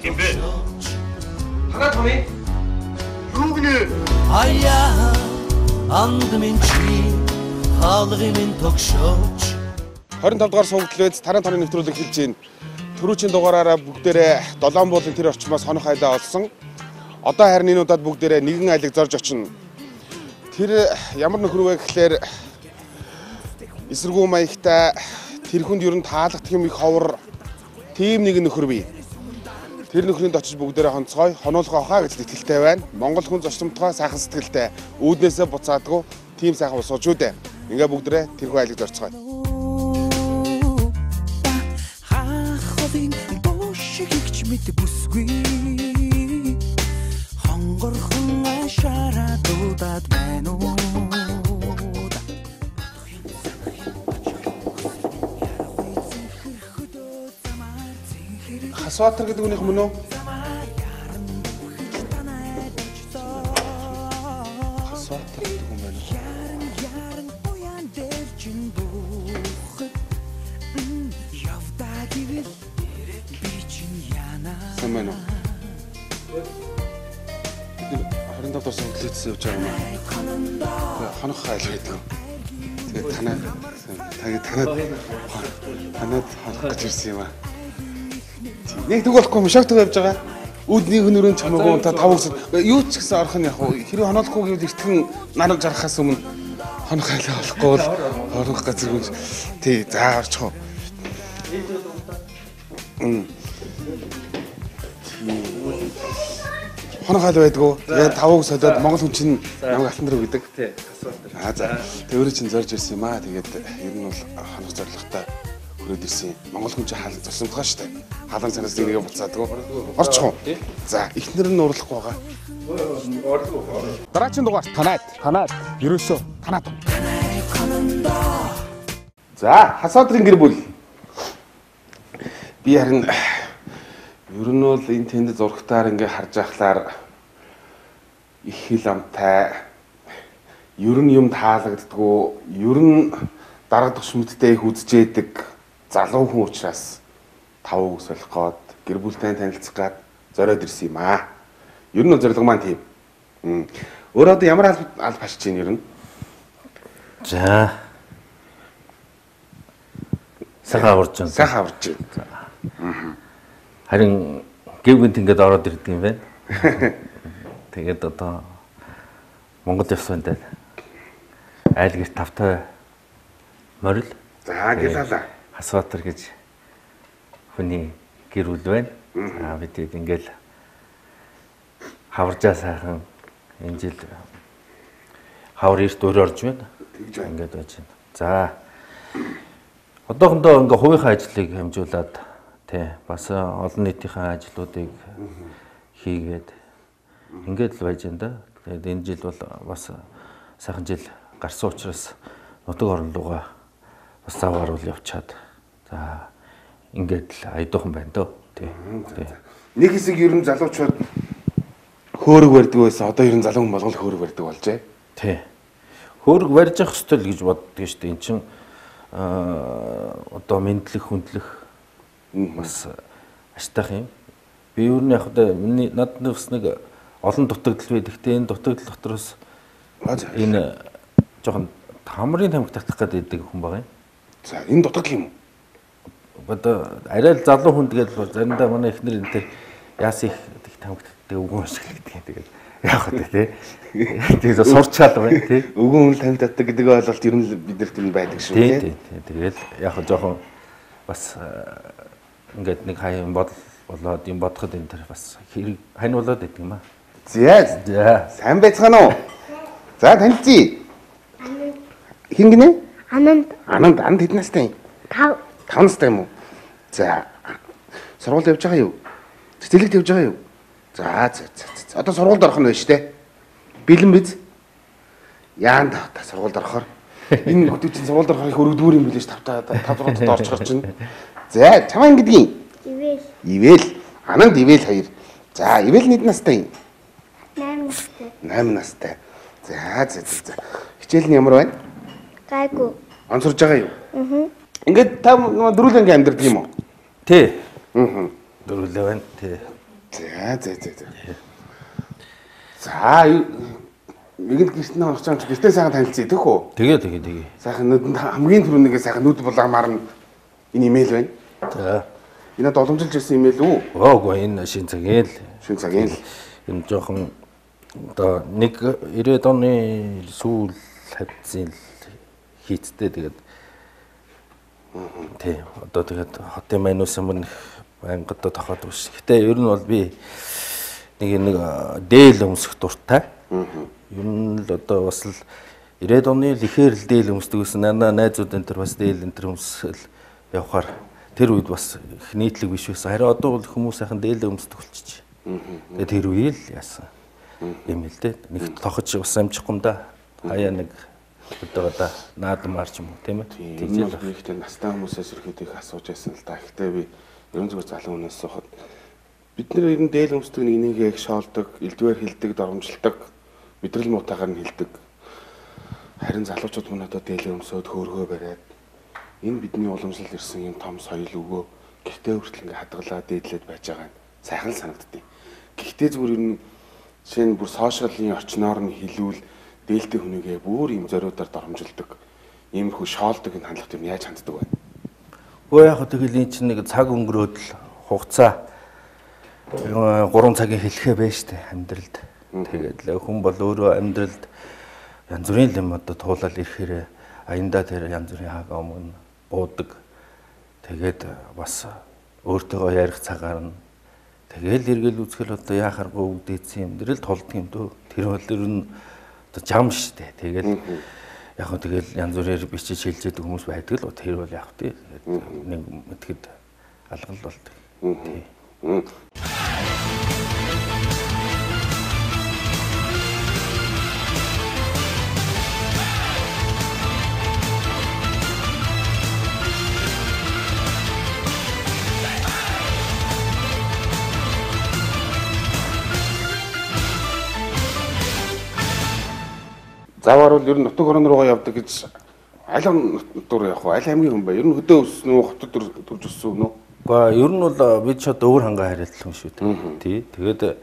Kim бэ? Танаа томьёо. Юу гинэ? Аяа андмын чи хаалгын тогшооч 25 дугаар сувагдлээс таран тооны нэвтрүүлэг хэлж байна. Түрүүчийн дугаараараа бүгдээрээ 7 буулын тэр орчмоос хонох айлаа олсон. Одоо харин энэ удаад бүгдээрээ нэгэн айлыг зорж очино. Тэр ямар нөхөр вэ гэхлээр эсэргүү маягтай тэр хүнд ер нь таалагдах юм их ховор тийм нэг нөхөр бий. Тэр нөхрөнд очиж бүгдээрээ хонцгой, хонуулах авахаа гэж итгэлтэй байна. Монгол хүн зочдомтгой сайхан сэтгэлтэй. Үүднээсээ буцаадгүй тийм сайхан усууч үү дээ. Ингээ бүгдээрээ тэрхүү айлыг зорцгоё. Хасватар гэдэг үгнийх мөн үү? Хасватар гэдэг юм байна. Сайн уу? Бид 25 дугаар сувагдлээс явж байгаа юм аа. Хонох хайл гэдэг. Тэгээд танаад хонох гэж ирсэн юм аа. Нэг тэг болохгүй шок тэг явж байгаа. Үүдний хөнөрөн чамаагүй та тав өсөд юу ч гэсэн орох нь яг хэрэг хоноолохгүй гэвэл эртхэн нараг жарахаас өмнө хонох хайлаа болохгүй бол орох газар хүн тий за орчих уу. Хонох хайл байдгүй. Тэгээд тавыг солиод Монгол хүн чинь намайг алтан дөрөв гэдэг. Тий, асуулт. За тэр өөрөө чинь зорж ирсэн юм аа. Тэгээд ер нь бол хонох зорилготой хүрээд ирсэн. Монгол хүн чинь хаалт зогсомтгоо штэ. Хаалан цанаас нэгээ буцаадгүй. Орчих уу. За эхнэр нь уурлахгүй байгаа. Уурлахгүй. Дараагийн дугаар танаад. Ерөөсөө танаад. За хасаадрын гэр бүл. Би харин ер нь бол энэ тэнд зургатаар ингээ харж ахлаар их хил амтай ер нь юм таалагддгүү ер нь дарга тушмттай их үзжээдэг залуу хүн учраас тавыг солих гээд гэр бүлтэй танилцах гээд зориод ирсэн юм аа. Ер нь зорилго маань тийм. Өөрөө одоо ямар алба хашиж чинь ер нь? За. Сахаа аварч байна. Харин гэвгэнт ингээд ороод ирдэг юм байна. Тэгээд одоо Монгол явсантай айл гэрт тавтай морил. За гэлалаа. Хасватар гэж хүний гэр бүл байна. Бид ингээл хаваржаа сайхан энэ жил хавар эрт өөр орж байна. Ингээд байж байна. За одоохондоо ингээ хувийнхаа ажлыг хэмжүүлээд тий бас олон нийтийн ажлуудыг хийгээд ингээд л байж байна да. Тэгээд энэ жил бол бас сайхан жил гарсан учраас нутаг орон руугаа бас заваар бол явчаад за ингээд л айдуухан байна дөө тий. Нэг хэсэг ер нь залуучууд хөөрөг барьдаг байсан. Одоо ер нь залуу хүн болгол хөөрөг барьдаг болжээ. Тий. Хөөрөг барьж явах ёстой л гэж боддог шүү дээ. Энд чинь одоо мэдлэх хүндлэх бас аштайх юм. Би юу нэг яг миний надад бас нэг олон дутагдал бий. Гэхдээ энэ дутагдал дотроос энэ жоохон хамрын тамхи татах гэдэг хүн байгаа юм. За энэ дутагдал юм уу? Одоо арай л залуу хүн тэгэл заримдаа манай эхнэр энэ тэр яас их тамхи татдаг үгүй шиг гэдэг. Тэгээд яах вэ тий? Тэгээд сурчаал байна тий. Өвгөн хүн тамхи татдаг гэдэг ойлголт ер нь биднэрт энэ байдаг шүү тий. Тэгээд яг жоохон бас ингээд нэг хаян болоод юм бодоход энэ тэр бас хэрэг хань болоод байдаг юм аа. За сайн байцгаана уу? За танилцъя. Хин гинэ? Ананд хэд настай юм? 5 настай юм уу? За сургуульд явж байгаа юу? Цэцэрлэгт явж байгаа юу? За. Одоо сургуульд орох нь байна шүү дээ. Бэлэн биз? Яанд та сургуульд орохоор энэ хөтөв чинь сургуульд орохыг өргөдгүүр юм билээ ш 5 6 орж гарч байна. За чамаа ингэдэг юм. Ивэл. Ананд ивэл хоёр. За ивэл хэд настай юм? 8 настай. За. Хичээл нь ямар байна? Гайгүй. Онцорж байгаа юу? Ингээд та дөрүл анги амьдардаг юм уу? Тий. Дөрвөлээ байна. Тий. За. За нэгэн гэртний орч байгаа гэртээ сайхан танилцъя тэхүү. Тэгээ. Сайхан нүдэнд хамгийн түрүүнийгээ сайхан нүд булаамаар нь энэ имэйл байна. За. Энэ боломжилж ирсэн имэйл үү? Оогүй энэ шин цагийн л. Шин цагийн л. Энэ жоохон одоо 90-ад оны сүүл хавцын хийцтэй тэгээд тий одоо тэгээд хотын манус юм байнга одоо тохоод биш. Гэтэ ер нь бол би нэг дээл өмсөх дуртай. Ер нь л одоо бас л 90-ад оны л ихээр л дээл өмсдөг гэсэн найзууд энэ төр бас дээл энэ төр өмсөл явахаар тэр үед бас их нийтлэг биш байсан. Харин одоо бол хүмүүс сайхан дээл өмсдөг болчих. Тэгээд тэр үеэл яасан юм л дээ. Нэг тохож бас амжихгүй юм да. Хаяа нэг одоо наадмаар ч юм уу тийм ээ. Тийм л ихтэй настай хүмүүсээс ирэхэд их асууж байсан л да. Гэхдээ би ерөн зүгээр залуу хүнээс соход бид нэр ер нь дээл өмсдөг нэг нэгээ их шоолдог, элдвээр хилдэг, доромжилдог, мэдрэл муутаагаар нь хилдэг. Харин залуучууд мөн одоо дээл өмсөд хөөргөө бариад энэ бидний уламжлал ирсэн юм том соёл өгөө гэртээ хүртэл ингээ хадгалаа дээдлээд байж байгаа нь сайхан санагддیں۔ Гэхдээ зүгээр ер нь жишээ нь бүр сошиалын орчноор нь хилүүл дээлтэй хүнийгээ бүр юм зориудаар доромжилдог, иймэрхүү шоолдог энэ хандлага тэр яаж ханддаг вэ? Өө яг тэгэл энэ чинь нэг цаг өнгөрөөд л хугацаа 3 цагийн хэлхээ байж штэ амьдралд. Тэгээд л хүн бол өөрөө амьдралд янз бүрийн юм одоо туулаад ирэхээр аяндаа тэр янз бүрийн хаг өмнө буудаг. Тэгээд бас өөртөөгөө ярих цагаар нь тэгэл эргэл үзэхэл одоо яхааргүй өвдөөцсөн юм дэрэл толдох юм дөө. Тэр бол ер нь одоо жам штэ. Тэгээд яг хөө тэгэл янз бүрээр бичиж хэлжээдэг хүмүүс байдаг л тэр бол яг тий нэг мэтгэд алгал болдог. Тий. Заавар бол ер нь нутаг орон руугаа явдаг гэж аль нутаг руу явах вэ? Аль аймгийн хүн бэ? Ер нь хөдөө өссөн үү, хотод төрж өссөн үү? Гэхдээ ер нь бол бид ч одоо өөр хангаа хариалт хүн шүү дээ. Тий. Тэгээд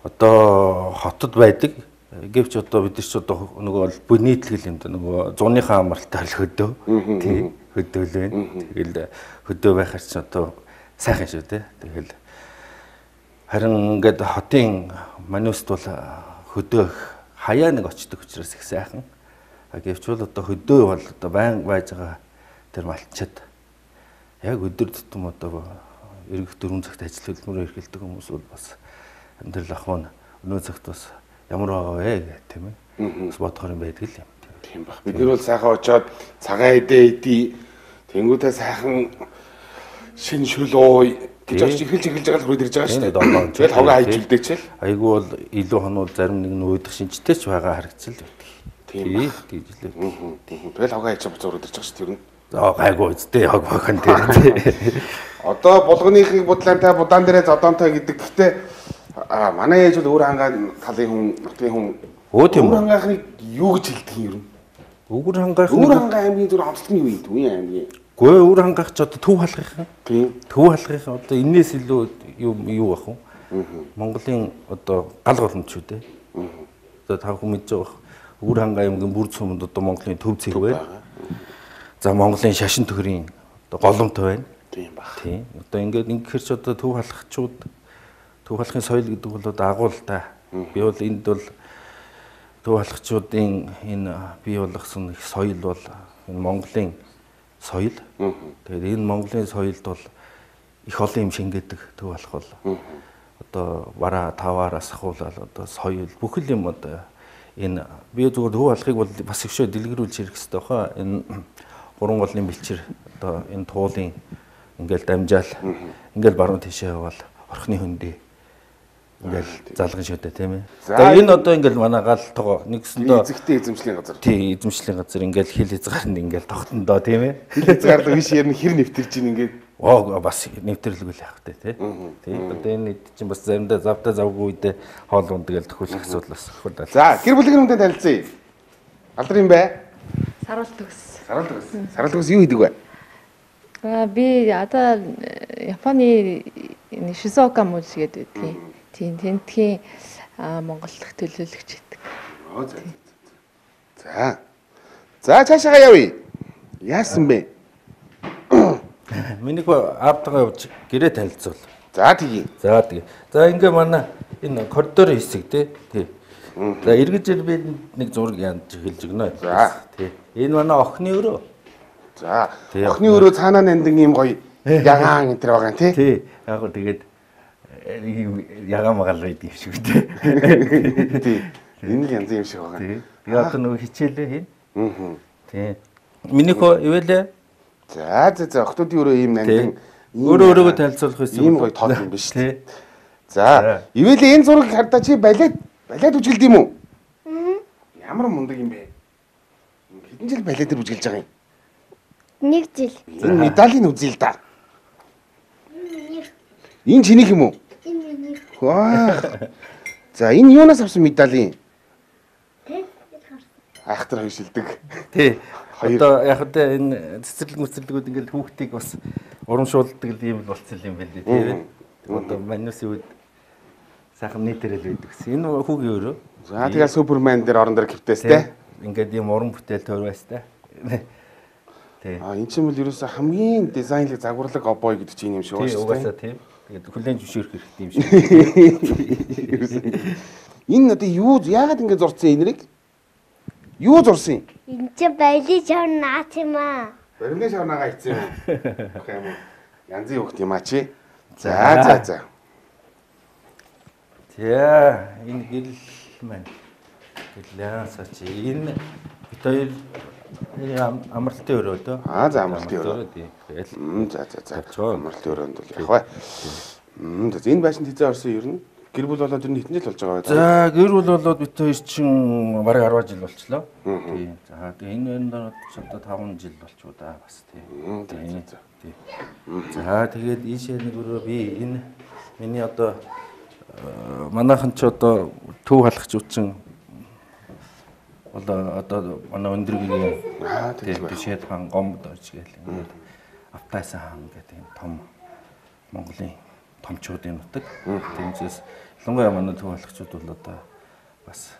одоо хотод байдаг. Гэвч одоо бид ч одоо нөгөө бүх нийтлэг юм да нөгөө зуныхаа амралтай л хөдөө. Тий. Хөдөө л байна. Тэгэл хөдөө байхаар ч одоо сайхан шүү дээ. Тэгэл харин ингээд хотын мануст бол хөдөө хаяа нэг очдог учраас их сайхан. Гэвч бол одоо хөдөө бол одоо байн байж байгаа тэр малчид яг өдөр тутам одоо эргэх 4 цагт ажил хөдөлмөрөөр эрхэлдэг хүмүүс бол бас амьдрал ахуйн өнөө цагт бас ямар байгаа вэ гэх тийм ээ. Бас бодохоор юм байдаг л юм. Тийм баг. Бид нар бол сайхан очоод цагаан идээ тэнгуүтэй сайхан шин шүл ууй гэж очиж эхэлж байгаа л хурд ирж байгаа шүү дээ. Тэгэл хавгаа хайж үлдээч л. Айгүй бол илүү хонууд зарим нэг нь уудах шинжтэй ч байгаа харагдсан л байдаг. Тийм гэж лээ. Тэгэл хавгаа хайж буцаа хурд ирж байгаа шүү дээ. За гайгүй үстэй яг бахан дээр. Одоо булганыхыг будлаантай будаан дээрээ зодоонтой гэдэг. Гэхдээ манай ээж бол өөр хангаа талын хүн, нутгийн хүн. Өө тийм үү. Өөр хангаахыг юу гэж хэлдэг юм ер нь? Өөр хангаах Өөр хангаа аймгийн зүр онцлог нь юу юм? Төвийн аймгийн. Гэхдээ өөр хангаах ч одоо төв халахын. Тийм. Төв халахын одоо энэс илүү юу бах вэ? Монголын одоо гал голомт шүү дээ. Одоо та хүн мэдж байгаа. Өөр хангаа аймгийн бүр цөмөнд одоо Монголын төв цэг байна. За Монголын шашин төхрийн одоо голомт байна. Тийм баг. Тийм. Одоо ингээд ингэхэр ч одоо төв халахчууд төв халахын соёл гэдэг бол одоо агуул та. Би бол энд бол төв халахчуудын энэ бий болгосон их соёл бол энэ Монголын соёл. Тэгээд энэ Монголын соёлд бол их олон юм шингээдэг төв халах бол одоо бараа таваараас ахуулаад одоо соёл бүхэл юм одоо энэ би зүгээр төв халахыг бол бас их шөө дэлгэрүүлж ирэх хэрэгтэй баха. Энэ гурван голын бэлчээр одоо энэ туулын ингээл дамжаал ингээл баруун тийшээ явал орхны хөндөй ингээл залган шүтээ тийм ээ. За энэ одоо ингээл манай гал того нэгсэндөө эзэгтэй эзэмшлийн газар. Тий, эзэмшлийн газар ингээл хил хязгаар нь ингээл тогтондоо тийм ээ. Хил хязгаар л биш ярина хэр нэвтэрж ийн ингээд бас нэвтрэрлгүй л явах тий. Тий. Одоо энэ чинь бас заримдаа завдаа завгүй үедээ хоол ундаг л төхөөлөх асуудал бас хурдаа. За, гэр бүлийн хүнтэй танилцъя. Алдар юм бэ? Саруул төгс. Саруул төгс. Саруул төгс юу хийдэг вэ? Би одоо Японы Шизуока муж гэдэг байдгийг. Тийм тентхийн Монгол дахь төлөөлөгч гэдэг. За цаашаа явъя. Яасан бэ? Миний аавтайгаа явж гэрээ танилцуул. За тэгье. За ингээ манай энэ коридорын хэсэг тий. За эргэж би нэг зураг янж хэлж өгнө. За. Тий. Энэ манай охины өрөө. За. Охины өрөө цаанаа нандин ийм гоё ягаан энэ төр байгаа тий. Тий. Яг гоо тэгээд ягаан магаал байдаг юм шиг тий. Тий. Энэ л янз юм шиг байгаа. Тий. Би одоо нөгөө хичээлээ хийн. Тий. Миний хөө ивэлээ. За охтуудын өрөө ийм нандин өөрөөгөө танилцуулах байсан. Ийм гоё тод юм биш тий. За, ивэлээ энэ зургийг хардаа чи балет үжилд юм уу? Ямар мундаг юм бэ? Хэдэн жил балетээр үжилж байгаа юм? 1 жил. Энэ медалийн үзье л да. Энэ чинийх юм уу? Энэ Ваа. За, энэ юунаас авсан медалийн? Тэ? Ахтар хоёр шилдэг. Тий. Одоо яг одоо энэ цэцэрлэг ингээл хүүхдийг бас урамшуулдаг юм болцсон юм байна тий. Одоо манюсын үед сайхан нийтэрэл байдаг гэсэн. Энэ хүүгийн өрөө. За тэгээ Супермен дээр орон дээр киптэс те. Ингээд юм уран бүтээл төрөөс те. Тий. А энэ ч юм бол ерөөсө хамгийн дизайнлог загварлаг обой гэдэг чинь юм шиг байна шүү дээ. Угаасаа тийм. Тэгээд хүлэн зөвшөөрөх хэрэгтэй юм шиг. Энэ одоо юу яагаад ингэ зурцсан энэрийг? Юу зурсан юм? энэ ч баялын шавн наац юм аа. Барилгын шавнаага ицсэн юм. Ах юм уу? Янзын хөхт юм а чи. За. За энэ гэрэл маань. Гэлээсаа чи энэ бид хоёр амралтын өрөө дөө. За амралтын өрөө. Тэгэл. За. Амралтын өрөөнд бол яг бай. За энэ байшин хизээ орсон ер нь гэр бүл болоод ер нь хэдэн жил болж байгаа вэ? За гэр бүл болоод бид хоёр чинь бараг 10 жил болчлоо. Тий. За тэгээ энэ одоо 5 жил болчихоо да бас тий. За тэгээд ийшээ нэг өрөө би энэ миний одоо манайхан ч одоо төв халахч үчин одоо манай өндөргийн тийшээд хаан гомд орж гээл ингээд автайсан хаан гэдэг юм том Монголын томчуудын нутаг. Тиймээс ялангуяа манай төв халахчуд бол одоо бас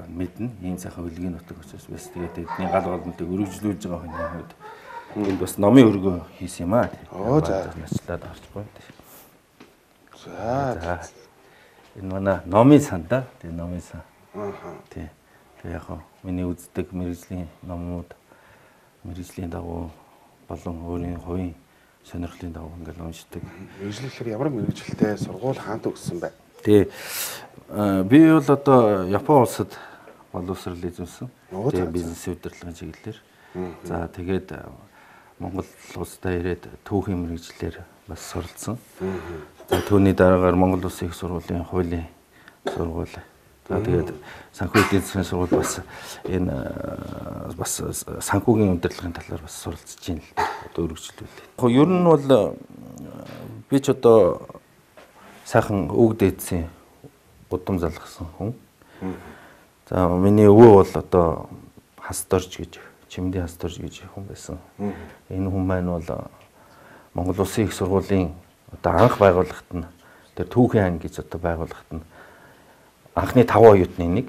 мэднэ ийм сайхан хөлгийн нутаг учраас бас тэгээд эдний гал голнуудыг өргөжлүүлж байгаа хүний хувьд энд бас номын өргөө хийсэн юм аа. За начлаад орж байна. За. Энэ манай номын сан да. Тэгээ номын сан. Тий. Тэгээ яг миний үздэг мэрэгжлийн номууд мэрэгжлийн дагуу болон өөрийн хувийн сонирхлын дагуу ингээл уншдаг. Мэргэжлэхээр ямар мэргэжилтэй сургууль хаант өгсөн бэ? Тий. Би бол одоо Япон улсад боловсрол эзэмсэн. Тэгээ бизнесийн удирдлагын чиглэлээр. За тэгээд Монгол улстай ирээд түүхийн мэргэжлэр бас суралцсан. За түүний дараагаар Монгол Улсын их сургуулийн хуулийн сургууль. За тэгээд санхүү эдийн засгийн сургууль бас энэ бас санхүүгийн удирдлагын талаар бас суралцж байна л одоо өргөжлүүлээ. Ер нь бол би ч одоо сайхан үг дээдсэн удам залгасан хүн. За миний өвөө бол одоо хасдорж гэж чимдийн хасдорж гэж хүн байсан. Энэ хүн маань бол Монгол Улсын их сургуулийн одоо анх байгууллагт нь тэр түүхийн ан гэж одоо байгууллагт нь анхны 5 оюутны нэг.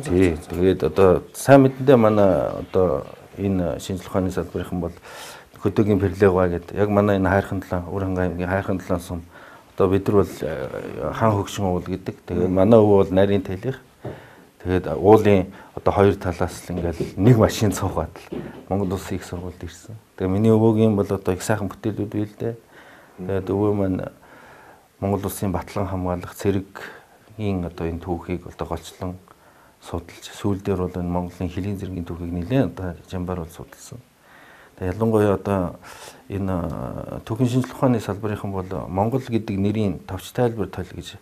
Тий. Тэгээд одоо сайн мэдэндээ манай одоо энэ шинжлэх ухааны салбарынхан бол хөдөөгийн перлегва гэдэг яг манай энэ хайрхан талан Өр хангай аймгийн хайрхан талан сум одоо бид нар бол хаан хөгшин уул гэдэг. Тэгээд манай өвөө бол нарийн талих. Тэгээд уулын одоо хоёр талаас л ингээл нэг машин цугаад л Монгол Улсын их сургуульд ирсэн. Тэгээд миний өвөөгийн бол одоо их сайхан бүтээлүүд бий л дээ. Тэгээд өвөө маань Монгол Улсын батлан хамгаалах цэргийн одоо энэ түүхийг одоо голчлон судалж сүүл дээр бол энэ Монголын хилийн зэргийн түүхийг нэлээд одоо жамбар бол судалсан. Тэгээд ялангуяа одоо энэ түүхийн шинжлэх ухааны салбарынхан бол Монгол гэдэг нэрийн товч тайлбар тойл гэж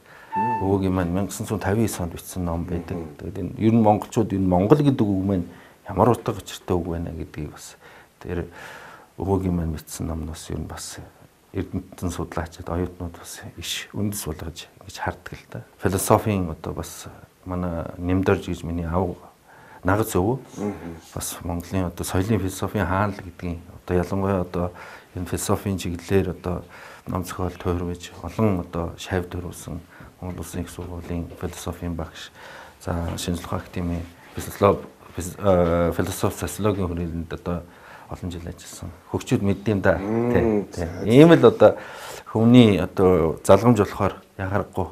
өвөөгийн маань 1959 онд бичсэн ном байдаг. Тэгээд энэ ер нь монголчууд энэ Монгол гэдэг үг маань ямар утга учиртай үг байна гэдгийг бас тэр өвөөгийн маань бичсэн номноос ер нь бас эрдэмтэн судлаачид оюутнууд бас иш үндэс болгож ингэж харддаг л да. Философийн одоо бас манай Нэмдорж гэж миний аав нагц өв. Бас Монголын одоо соёлын философийн хаанл гэдгийг одоо ялангуяа одоо энэ философийн чиглэлээр одоо ном зохиол тойрвож олон одоо шавь төрүүлсэн Монгол Улсын их сургуулийн философийн багш, за шинжлэх ухааны академийн философи социологийн хүрээлэнд одоо олон жил ажилласан. Хөгчүүд мэддэм да. Ийм л одоо хүмүүний одоо залгамж болохоор ягарахгүй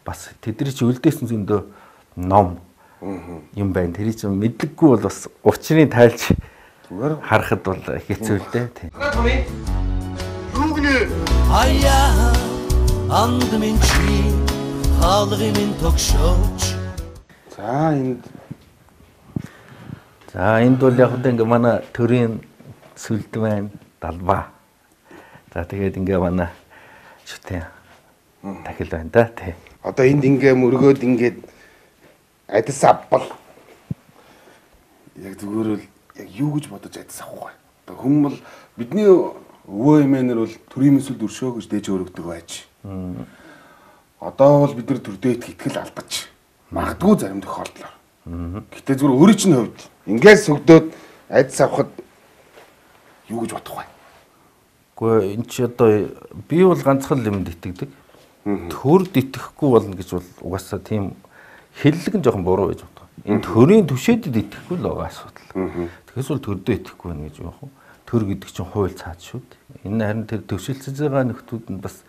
бас тэдний чи үлдээсэн зөндөө ном юм байна. Тэр чинь мэдлэггүй бол бас учрыг тайлж зүгээр харахад бол хэцүү л дээ. Юу гинэ? Аяа анд минь чи хаалгын минь тогшооч. За энд бол яг л ингээ манай төрийн сүлд байна, далбаа. За тэгээд ингээ манай шүтэн тахил байна да тий. Одоо энд ингээ мөргөөд ингээд адис авбал яг зүгээр л яг юу гэж бодож адис авахгүй. Одоо хүмүүс бол бидний өвөө эмээнэр бол төрийн мэсэлд өршөө гэж дээж өргөдөг байж. Одоо бол бид нар төрдөөд итгэл алдаж магадгүй зарим тохиолдлоор. Гэтэ зүгээр өөрийн чинь хувьд ингээд сүгдөөд адис авахд юу гэж бодох вэ? Гэхдээ эн чи одоо би бол ганцхан юмд итгэдэг. Төрд итгэхгүй болно гэж бол угаасаа тийм хэллэг нь жоохон буруу гэж боддог. Энэ төрийн түшээдэд итгэхгүй л байгаа асуудал. Тэгээс бол төрдөө итгэхгүй байна гэж яах вэ? Төр гэдэг чинь хууль цаад шүү дээ. Энэ харин тэр төвшөлтөж байгаа нөхдүүд нь бас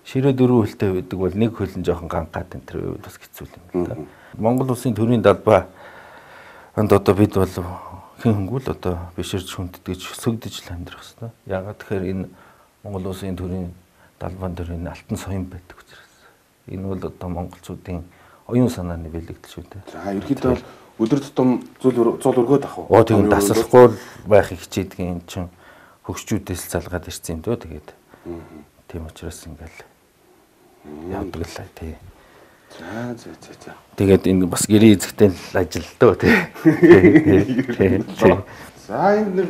ширээ дөрвөн хөлтэй байдаг бол нэг хөл нь жоохон гангаад энэ тэр үед бас хэцүү юм л да. Монгол Улсын төрийн далбаа энд одоо бид бол хэн хөнгөл одоо биширж хүнддэж сөгдөж л амьдрах хэрэгтэй. Ягаад тэгэхээр энэ Монгол Улсын төрийн далбаан дээр энэ алтан соён байдаг учраас. Энэ бол одоо монголчуудын оюун санааны бэлэгдэл шүү дээ. За ерөөхдөө бол өдөр тутам зул өргөөд ах уу? Тийм дасалхгүй байхыг хичээдэг юм чинь хөгшчүүдээс залгаад ирсэн юм дөө тэгээд. Тийм учраас ингээл явдаг л тий. За. Тэгээд энэ бас гэрээ эзэгтэй л ажил дөө тий. За энэ нэг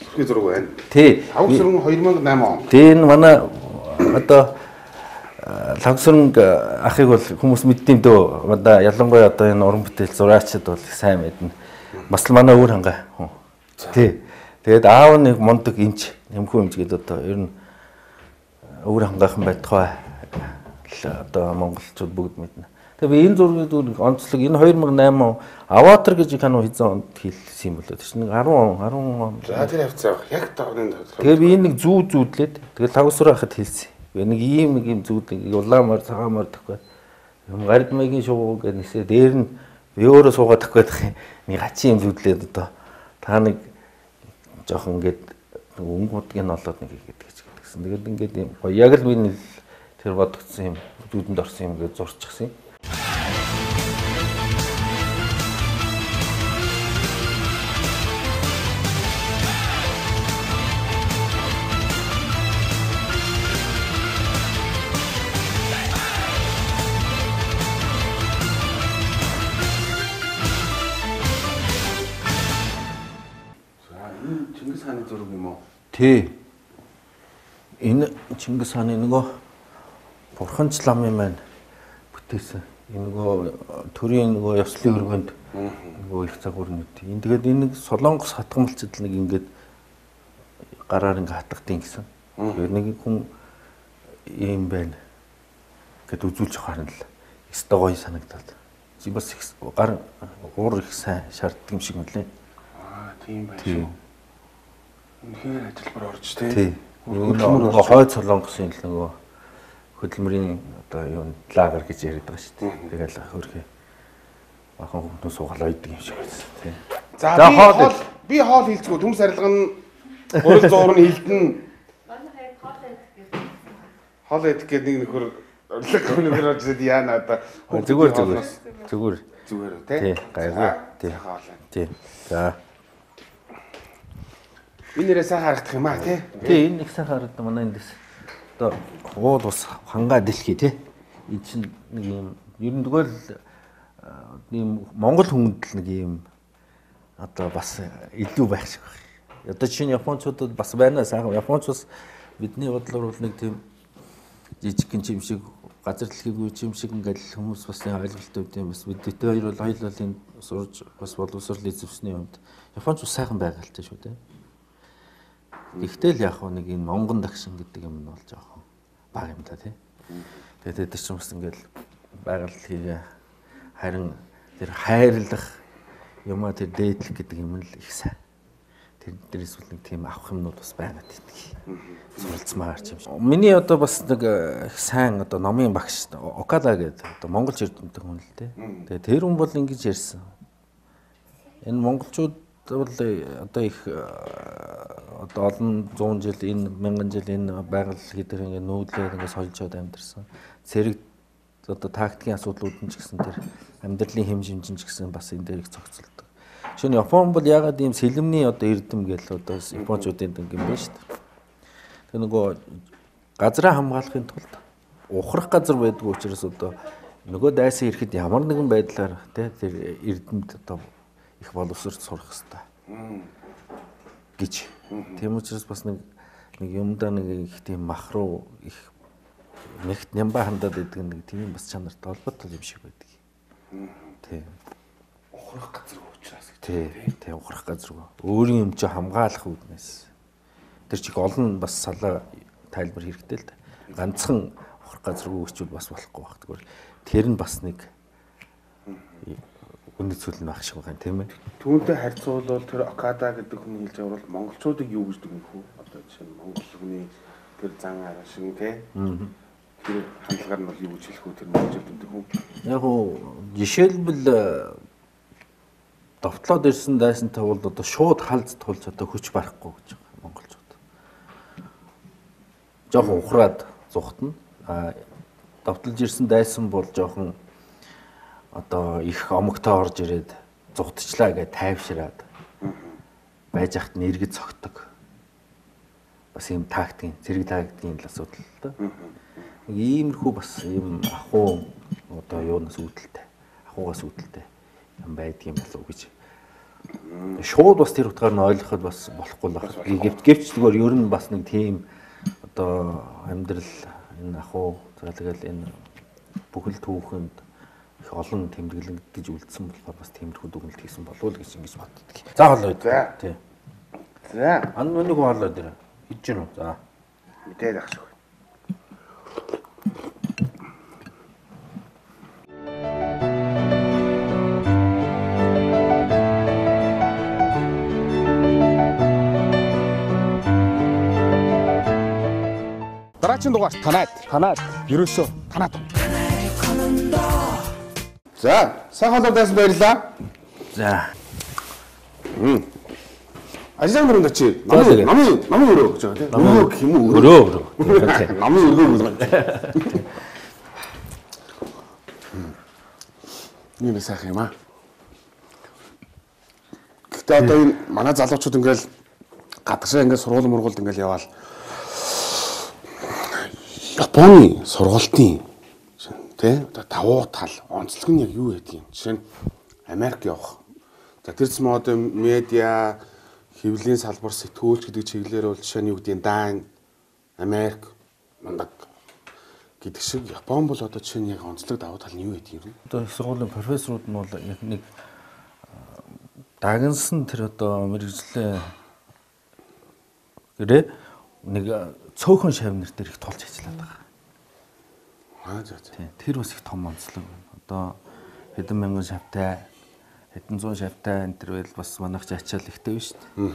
сүрхий зураг байна. Тий. Тавсрын 2008 он. Тий энэ манай одоо Лавсрынг ахыг бол хүмүүс мэддэм дөө. Одоо ялангуяа одоо энэ уран бүтээл зураачид бол сайн мэднэ. Бас л манай өөр хангаа хүн. Тий. Тэгээд аав нэг мундаг эмч, нэмхүү эмч гэдэг одоо ер нь өөр хангаахан байтугай одоо монголчууд бүгд мэднэ. Тэгээд энэ зургийг онцлог энэ 2008 он Аватар гэж кино хийсэн онд хийлсэн юм болоо. Тэр чинь 10 он. За тэр хавцаа яг тавны. Тэгээд би энэ нэг зүүдлээд тэгээд Лавсрын хахад хийлсэн. Нэг ийм зүүдийг улаамаар цагаамаар тахгүй. Юм гард маягийн шууг гэхээсээ дээр нь би өөрөө суугаад тахгүй нэг хачин юм зүүдлээд одоо та нэг жоохон ингээд өнгөдгийг нь олоод нэг хийгээд гэсэн. Тэгээд ингээд юм яг л би тэр бодогдсон юм дүүдэнд орсон юм гэж зурчихсан юм. Чингис хааны зураг юм уу? Тий. Энэ Чингис хааны нөгөө Бурханч ламын маань бүтээсэн. Энэ нөгөө төрийн нөгөө ёслолын өргөнд нөгөө их загварнууд. Энэ тэгээд энэ Солонгос хатгамалчд нэг ингээд гараар ингээд хатгадیں гэсэн. Тэгээд нэг хүн ийм байна гэд үзүүлж харна л. Өстой гоё санагдаад. Чи бас гар уур их сайн шаарддаг юм шиг мөлий. Тийм байх шүү. Үнэхээр ажилбар орж тий. Тий. Нөгөө хойд Солонгосын нөгөө хөдөлмөрийн одоо юу лагер гэж яриад байгаа шүү дээ. Тэгэл хөрхий бахан хүмүүс суугаал ойдөг юм шиг байсан тий. За би хоол хийлцгүү төмс арилга нь гурил зуурны хилдэн хоол идэх гэдэг нэг нөхөр орлог өнөөр орж ирээд яана одоо зүгээр тий гайгүй тий. За энэ нэрээ сайн харагдах юм аа тий. Тий энэ нэг сайн харагдана манай эндээс одоо уул ус хангаа дэлхий тий. Энэ чинь нэг юм ер нь тэгвэл ийм Монгол хүмүүд л нэг юм одоо бас илүү байх шиг байна. Одоо чинь японочдод бас байна сайхан. Японч бас бидний бодлоор бол нэг тийм жижиг гин юм шиг газар дэлхийг үе юм шиг ингээл хүмүүс бас нэг ойлголттой юм бас бид хоёр бол хоёул энэ сурж бас боловсрол эзэмсний юмд Японч сайхан байгальтай шүү дээ. Гэхдээ л яг нэг энэ монгон дагшин гэдэг юм нь бол жоохон бага юм да тий. Тэгээд тэр чинь бас ингээл байгальлыг харин тэр хайрлах юмаа тэр дээдлэх гэдэг юм л их сайн. Тэр дээрээс бол нэг тийм авах юмнууд бас байгаад идэх. Суралцмаар ч юм шиг. Миний одоо бас нэг их сайн одоо номын багш Окада гэдэг одоо монголч эрдэмтэн хүн л дээ. Тэгээд тэр хүн бол ингэж ярьсан. Энэ монголчууд бол одоо их одоо олон 100 жил энэ 1000 жил энэ байгаль гэдэг ингээд нүүдлээд ингээд сольжоод амьдэрсэн. Цэрэг одоо тактикийн асуудлууд нь ч гэсэн тэр амьдралын хэм жимжин ч гэсэн бас энэ дээр их зохицолдог. Шинэ Япон бол ягаад ийм сэлэмний одоо эрдэм гэл одоо японочдын юм бэ шүү дээ. Тэр нөгөө газраа хамгаалахын тулд ухрах газар байдаг учраас одоо нөгөө дайсан ирэхэд ямар нэгэн байдлаар тэр эрдэмд одоо их боловсрол сурах хэрэгтэй гэж. Тийм учраас бас нэг юмдаа нэг их тийм махруу их нэгт нямба хандаад байдаг нэг тийм бас чанартай холбоотой юм шиг байдаг. Тийм. Ухрах газар учраас. Тийм ухрах газар. Өөрийн юм чи хамгаалах үүднээс. Тэр чиг олон бас салаа тайлбар хэрэгтэй л да. Ганцхан ухрах газаргүй өчүүл бас болохгүй баг. Тэгвэл тэр нь бас нэг үнэт зүйл нь байх шиг байна тийм ээ. Түүнтэй харьцуулбал тэр Окада гэдэг хүн хэлж байгаа бол монголчуудыг юу гэж дүгнэх вэ? Одоо жишээ нь монгол хүний тэр зан арга шиг тий. Тэр хандлагаар нь бол юу гэж хэлэх вэ? Тэр монголчууд гэдэг хүн. Яг уу жишээлбэл довтлоод ирсэн дайсантай бол одоо шууд халз тулж одоо хүч барахгүй гэж байгаа монголчууд. Жохон ухраад зүхтна. Довтлож ирсэн дайсан бол жоохон одоо их омогтой орж ирээд зүхтчлаа гэж тайвшираад байж ахт нь эргэж цогтөг. Бас ийм тактикийн зэрэг тактикийн л асуудал л да. Нэг иймэрхүү бас ийм ахуу одоо юунаас үүдэлтэй. Ахуугаас үүдэлтэй юм байдаг юм болов уу гэж. Шууд бас тэр утгаар нь ойлгоход бас болохгүй л байна. Гэвч зүгээр ер нь бас нэг тийм одоо амьдрал энэ ахуу за тэгэл энэ бүхэл түүхэнд их олон тэмдэглэн гэж үлдсэн болохоор бас тиймэрхүү дүгнэлт хийсэн болов уу гэж ингэж боддог. За хоолой. Тий. За. Нэг хоолой дээр хийж гэнэ үү? За. Мэдээд ах шүү. Дараагийн дугаар танаад ерөөсөө танаад. За, сайн хоолойдаас баярлаа. За. Ажлын дөрөнд очив. Намын өрөө гэж байгаа тийм. Өрөө гэх юм уу? Өрөө. Намын өрөө гэж байгаа. Нэг сайхан юм аа. Гэхдээ одоо энэ манай залуучууд ингээл гадагшаа ингээл сургууль мургуулд ингээл яваал Японы сургалтын тий одоо давуу тал онцлог нь яг юу гэдэг юм. Жишээ нь Америк явах. За тэрс мод медиа хэвлэлийн салбар сэтгүүлч гэдэг чиглэлээр бол жишээ нь юу гэдэг нь Дан, Америк, Мандаг гэдэг шиг Япон бол одоо жишээ нь яг онцлог давуу тал нь юу гэдэг юм. Одоо их сургуулийн профессорууд нь бол яг нэг дагнсан тэр одоо мэрэгжлийн гэрээ нэг цөөхөн шавнар дээр их тулж ажиллаад байгаа. За. Тэр бас их том онцлог. Одоо хэдэн мянган шавтай, хэдэн зуун шавтай энэ төр байл бас манайх ч ачаал ихтэй биш үү?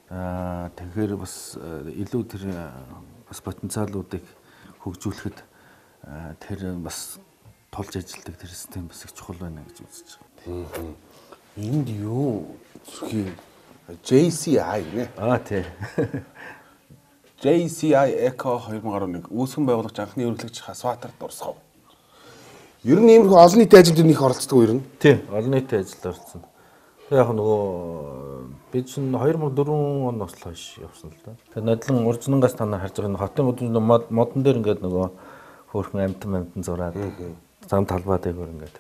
Тэгэхээр бас илүү тэр бас потенциалуудыг хөгжүүлэхэд тэр бас тулж ажилладаг тэр систем бас их чухал байна гэж үзэж байгаа. Энд юу зүрхий JCI нэ? Тий. JCI Eco 2011 үүсгэн байгуулагч анхны ерөнхийлөгч Хасватар дурсгав. Ер нь иймэрхүү олон нийтийн ажилд нөх оролцдог ер нь. Тий, олон нийтийн ажилд орсон. Тэг яг нөгөө би чинь 2004 оноос л хойш явсан л да. Тэг нодлон уржнангаас танаа харж байгаа хотын модон дээр ингээд нөгөө хөөрхөн амтан зураад зам талбай дээр ингээд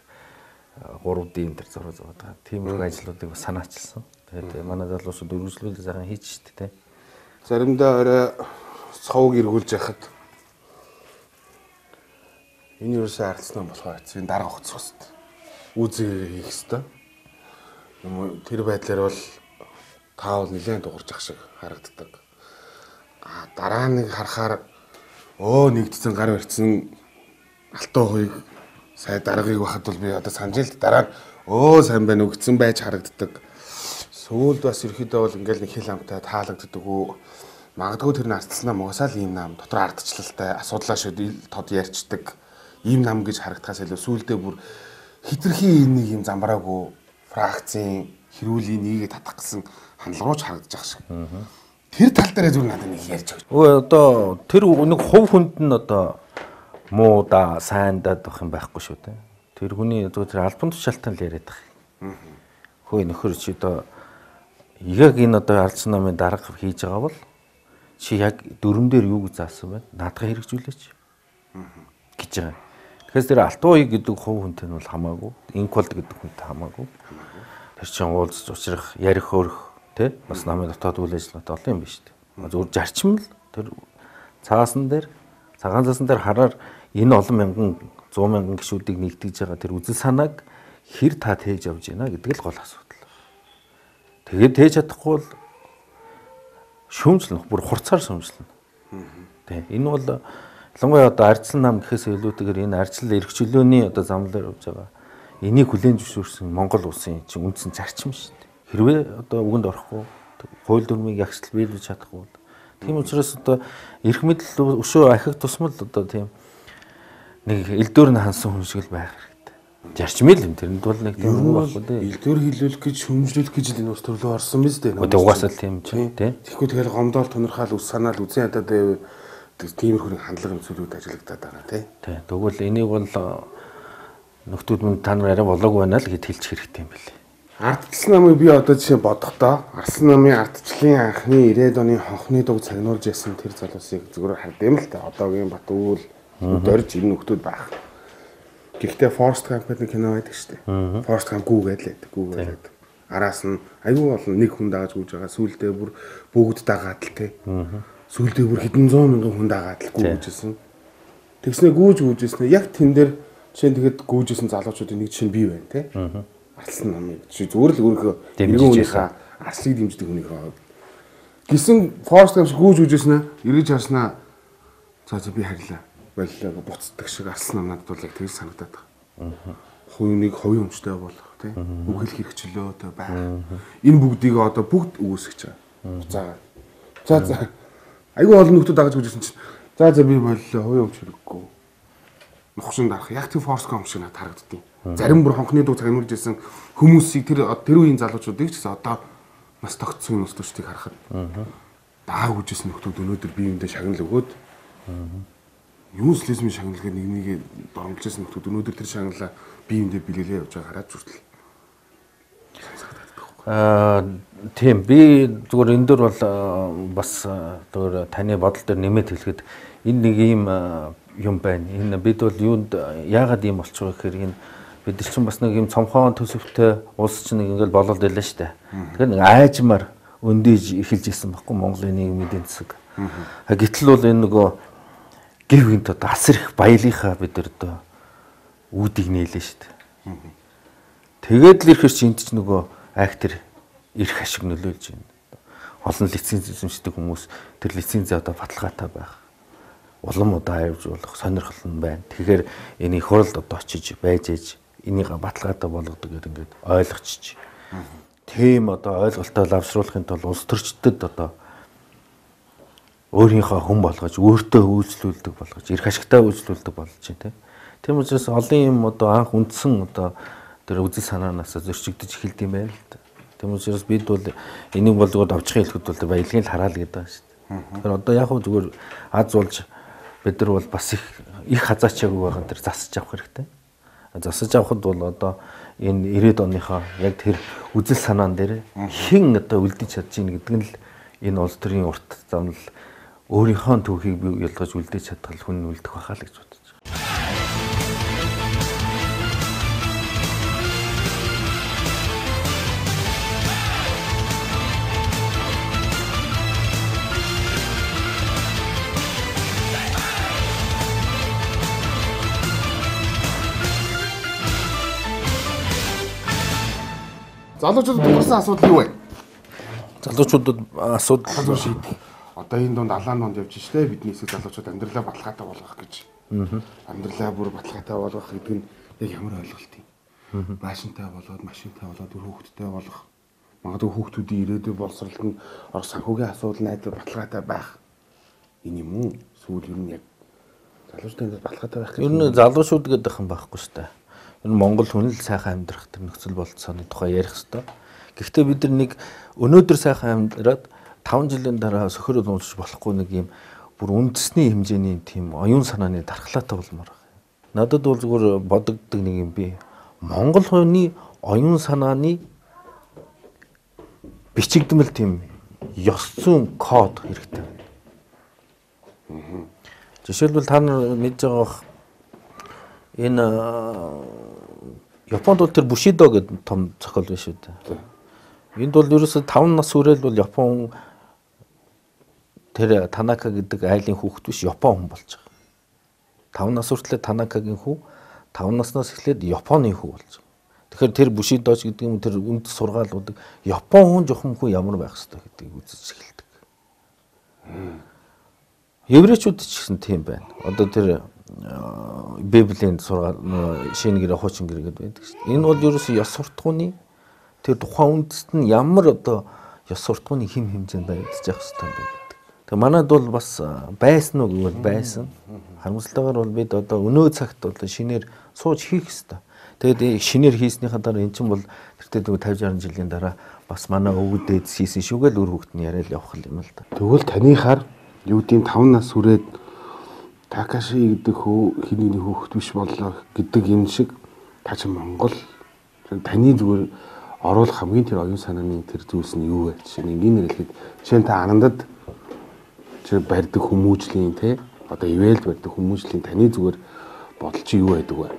3D энэ төр зураад байгаа. Тиймэрхүү ажлуудыг бас санаачилсан. Тэгээд манай залуучууд үргэлжлүүлээ сайхан хийж штэ тий. Заримдаа орой цовг эргүүлж яхад Энэ юусаа арцсан болохоор энэ дарга хоцрох хэвээр. Үзээ хийх хэвээр. Тэр байдлаар бол таавал нэлээд дуурж ах шиг харагддаг. Дараа нэг харахаар нэгдсэн гар барьцсан алтан хуйг сая даргаыг бахад бол би одоо санаж л дараа сайн байна өгцөн байж харагддаг. Сүүлд бас ерөөхдөө бол ингээл нэг хэл амтай таалагддаг үү. Магадгүй тэр нь ардцлаа мугасаал ийм нам дотор ардчлалтай асуудлаа шууд тод ярьцдаг. Ийм нам гэж харагдахаас илүү сүүлдээ бүр хитрхи нэг юм замбраагүй фракцийн хэрүүлийн нийгэд татах гэсэн хандлага руу ч харагдаж байгаа шиг. Тэр тал дээр зүгээр надад нэг ярьж өгч. Одоо тэр нэг хувь хүнд нь одоо муу да сайн даад байх юм байхгүй шүү дээ. Тэр хүний зүгээр албан тушаалтан л яриад байгаа. Хөөе нөхөр чи одоо яг энэ одоо ардсан намын дарга хийж байгаа бол чи яг дөрөн дээр юу гэж заасан байна? Наадга хэрэгжүүлээч гэж байгаа. Тэгэхээр тэр алтан уяг гэдэг хувь хүнтэй нь бол хамаагүй, инколд гэдэг хүнтэй хамаагүй. Тэр чинь уулзч учрах, ярих хөрөх тий бас намын дотоод үйл ажиллагаатай олон юм биш үү? Зүгээр зарчим л тэр цагаан цаасан дээр хараар энэ олон мянган 100 мянган гишүүдийг нэгтгэж байгаа тэр үзэл санааг хэр та тээж явж байна гэдэг л гол асуудал. Тэгээд тээж чадахгүй бол шүүмжлэн бүр хурцаар шүүмжлэн. Тэ энэ бол ялангуяа одоо ардсан нам гэхээс илүүтэйгээр энэ ардчлал эрхчлөөний одоо зам дээр явж байгаа. Энийг хүлээн зөвшөөрсөн Монгол улсын чинь үндсэн зарчим шүү дээ. Хэрвээ одоо үгэнд орохгүй хууль дүрмийг ягштал биелүүлж чадахгүй. Тийм учраас одоо эрх мэдэл өшөө ахих тусмал одоо тийм нэг элдвэр нь хансан хүн шиг л байх хэрэгтэй. Зарчмэл юм тэрэнд бол нэг тийм хүн байхгүй дээ. Элдвэр хилүүлэх гэж шөмжлүүлэх гэж л энэ ус төрлөө орсон биз дээ. Одоо угаасаа тийм ч тийм. Тэгэхгүй тэгэл гомдоол тунирхаал ус санаал үзэн ядаад тиймэрхүү хандлага зүйлүүд ажиллагдаад байгаа тий. Тэгвэл энийг бол нөхдүүд мөн та нар арай болоогүй байна л гэд хэлчих хэрэгтэй юм билээ. Ардчлал намыг би одоо жишээ бодохдоо Арслан намын ардчлалын анхны 90-ад оны хонхны дуг цагнуулж ясан тэр залуусыг зүгээр хардсан л та. Одоогийн Батүл дөрж энэ нөхдүүд байх. Гэхдээ Forrest Gump гэдэг кино байдаг шүү дээ. Forrest Gump гүүгээд. Араас нь аюу олон нэг хүн дааж гүйж байгаа. Сүүлдээ бүр бүгд дагаад л тий. Сүүлдээ бүр хэдэн зуун мянган хүн дагаад л гүйжсэн. Тэгснэ гүйжсэн. Яг тэн дээр жишээ нь тэгэхэд гүйжсэн залуучуудын нэг жишээ нь бий байна тий. Арслан намыг чи зүгээр л өөрийнхөө дэмжижийнхаа арслыг дэмждэг хүнийг хаад. Гисэн Forrest Gump гүйжсэн эргэж харснаа за би харилаа. Боллоо буцдаг шиг Арслан нам надад бол яг тэгж санагдаад байна. Хувийг ховын өмчтэй болох тий. Үг хэл хэрэгчлөөтэй байх. Энэ бүгдийг одоо бүгд үүсгэж байгаа. Буцаагаад. За айгүй олон нөхдүүд дагаж гүйжсэн чинь за би боллоо хувийн өмч хэрэггүй. Нухшин дарах яг тийм Forrest Gump шиг надад харагддаг. Зарим бүр хонхны дуу цагнуулж байсан хүмүүсийг тэр үеийн залуучуудыг ч гэсэн одоо нас тогтсон нөхдүүдийг харахад дааг үжсэн нөхдүүд өнөөдөр биеиндээ шагнал өгөөд юус лизмийн шагналыг нэг дормжилсэн нөхдүүд өнөөдөр тэр шагналаа биеиндээ билгэлээ явж байгаа хараад зүртэл. Тийм би зүгээр энэ дөр бол бас зүгээр таны бодол дээр нэмээд хэлэхэд энэ нэг ийм юм байна. Энэ бид бол юунд яагаад ийм болчихоо гэхээр энэ бид нар чинь бас нэг юм цомхон төсөвтэй улс чинь нэг ингээл болоод байлаа шүү дээ. Тэгэхээр нэг айжмаар өндөөж эхэлж исэн баггүй Монголын нийгмийн эдийн засаг. Гэтэл бол энэ нөгөө гэр бүлд одоо асар их баялынхаа бид нар одоо үүдийг нээлээ шүү дээ. Тэгээд л ирэхэр чинь энд ч нөгөө актер ирэх ашиг нөлөөлж байна. Олон лиценз эзэмшдэг хүмүүс тэр лицензээ одоо баталгаатай байх. Улам удаа авч болох сонирхол нь байна. Тэгэхээр энийг хуралд одоо очиж байж ээж энийг баталгаатай болгодог гэдэг ингээд ойлгочих. Тийм одоо ойлголтоо лавшруулахын тулд улс төрчдөд одоо өөрийнхөө хүн болгож, өөртөө үйлчлүүлдэг болгож, эрх ашигтай үйлчлүүлдэг болж байна тийм учраас олон юм одоо анх үндсэн одоо тэр үзэл санаанаас зөрчигдөж эхэлдэг юм байна л да. Тийм учраас бид бол энийг бол зүгээр давчхан хэлэхэд бол баялагын л хараал гэдэг байна шүү дээ. Тэгэхээр одоо яг хөө зүгээр аз болж бид нар бол бас их хазаачаагүй байгаа тэр засаж авах хэрэгтэй. Засаж авахд бол одоо энэ 90-ад оныхоо яг тэр үзэл санаан дээр хэн одоо үлдэж чадж ийн гэдэг нь л энэ улс төрийн урт замнал өөрийнхөө түүхийг бий ялгаж үлдээж чадах хүн үлдэх байхаа л гэж бодож байна. залуучууд тулгарсан асуудал юу вэ? Залуучуудад асуудал шийдэх. Одоо энэ донд алаан донд явж штэ бидний хэсэг залуучууд амьдралаа баталгаатай болгох гэж. Амьдралаа бүр баталгаатай болгох гэдэг нь яг ямар ойлголт юм? Машинтай болоод үр хүүхэдтэй болох. Магадгүй хүүхдүүдийн ирээдүйн боловсролд нь орох санхүүгийн асуудал найдвар баталгаатай байх. Энэ юм уу? Сүүл ер нь яг залуучуудын баталгаатай байх гэж. Ер нь залуучууд гэдэг юм байхгүй шүү дээ. Ер нь Монгол хүн л сайхан амьдрах тэр нөхцөл болцооны тухай ярих хэрэгтэй. Гэхдээ бид нар нэг өнөөдөр сайхан амьдраад 5 жилийн дараа сөхөр уншиж болохгүй нэг юм бүр үндэсний хэмжээний тийм оюун санааны дархлаатай болмоор байна. Надад бол зүгээр бодогддог нэг юм би Монгол хүний оюун санааны бичигдмэл тийм ёс зүйн код хэрэгтэй. Жишээлбэл та нар мэдж байгаа бох энэ Японд бол тэр Бушидо гэдэг том зохиол биш үү? Энд бол ерөөсө 5 нас хүрээл бол Япон тэр Танака гэдэг айлын хүүхэд биш Япон хүн болж байгаа. 5 нас хүртлээр Танакагийн хүү 5 наснаас эхлээд Японы хүү болж байгаа. Тэгэхээр тэр Бушидоч гэдэг юм тэр үнд сургаалуудыг Япон хүн жохон хүн ямар байх ёстой гэдгийг үзэж эхэлдэг. Еврейчүүд ч гэсэн тийм байна. Одоо тэр Библийн сургаал шинэ гэрээ хуучин гэрээ гэдэг байдаг шүү дээ. Энэ бол ерөөсөө ёс суртахууны тэр тухайн үндэст нь ямар одоо ёс суртахууны хэм хэмжээнд баригдаж явах ёстой юм бэ гэдэг. Тэгээ манайд бол бас байсан уу гэвэл байсан. Харамсалтайгаар бол бид одоо өнөө цагт бол шинээр сууж хийх ёстой. Тэгээд шинээр хийснийхаа дараа эн чинь бол тэртээ 50 60 жилийн дараа бас манай өвөг дээд хийсэн шүүгээл үр хөвгт нь яриад явах юм л да. Тэгвэл танихаар юу гэдэм 5 нас хүрээд Такаши гэдэг хиний хүүхэд биш боллоо гэдэг юм шиг та чи Монгол таны зүгээр оруулах хамгийн тэр оюун санааны тэр зүйлс нь юу вэ? Жишээ нь ингийн нэрлэхэд жишээ нь та анандад чи барьдаг хүмүүжлийн те одоо ивэлд барьдаг хүмүүжлийн таны зүгээр бодол чи юу байдаг вэ?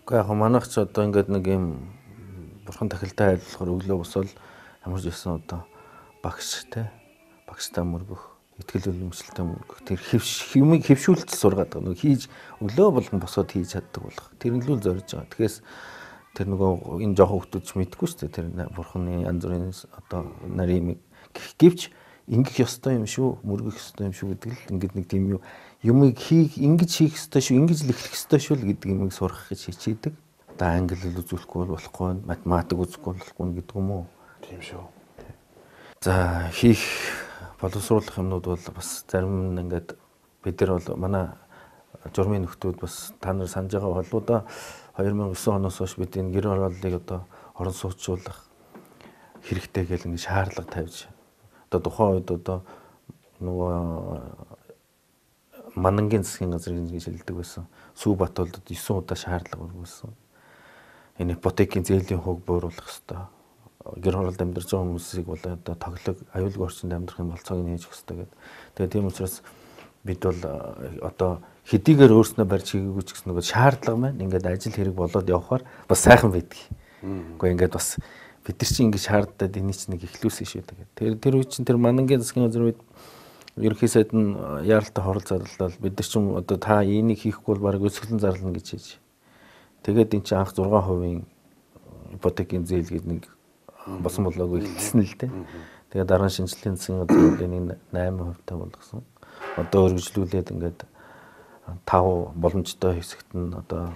Гэхдээ яг манайх ч одоо ингээд нэг юм бурхан тахилтай айлуулахаар өглөө босвол ямар ч байсан одоо багш те багштай мөргөх итгэл үнэмшилтэй мөргөх тэр хэмиг хөвшүүлэлт сургаад байгаа. Нэг хийж өглөө болгон босоод хийж чаддаг болох. Тэр нь л зорж байгаа. Тэгэхээс тэр нөгөө энэ жоохон хүмүүс мэдгүй шүү дээ. Тэр бурханы янз бүрийн одоо нарийн гэвч ингэх ёстой юм шүү, мөргөх ёстой юм шүү гэдэг л ингээд нэг тийм юмыг ингэж хийх ёстой шүү, ингэж л эхлэх ёстой шүү л гэдэг юмыг сурах гэж хичээдэг. Одоо англи хэл үзүүлэхгүй болохгүй, математик үзэхгүй болохгүй гэдэг юм уу? Тийм шүү. За хийх боловсруулах юмнууд бол бас зарим нь ингээд бид нар бол манай журмын нөхдүүд бас та нар санаж байгаа болоо да 2009 оноос хойш бид энэ гэр орооллыг одоо орон сууцуулах хэрэгтэй гэл ингээд шаардлага тавьж одоо тухайн үед одоо нөгөө Манангийн засгийн газрын гэж хэлдэг байсан. Сүүбат болдод 9 удаа шаардлага өргүүлсэн. Энэ ипотекийн зээлийн хөөг бууруулах ёстой. Гэр хороолд амьдарч байгаа хүмүүсийг бол одоо тоглог аюулгүй орчинд амьдрах юм бол цог нь хийж өгсөй гэдэг. Тэгээ тийм учраас бид бол одоо хэдийгээр өөрснөө барьж хийгээгүй ч гэсэн нөгөө шаардлага маань ингээд ажил хэрэг болоод явхаар бас сайхан байдаг. Уу ингээд бас бид нар чинь ингээд шаарддаг энийг чинь нэг ихлүүлсэн шүү дээ. Тэр үе чинь тэр Манангийн засгийн газрын үед ерөнхий сайд нь яаралтай хорол зарлал бид нар чинь одоо та энийг хийхгүй бол бараг өсгөлэн зарлана гэж хийж. Тэгээд эн чинь анх 6% ипотекийн зээл гэдэг нэг босон болоогүй хэлсэн л дээ. Тэгээд дараа нь шинжилгээний засгийн газрын 8% та болгосон. Одоо өргөжлүүлээд ингээд 5 боломжтой хэсэгт нь одоо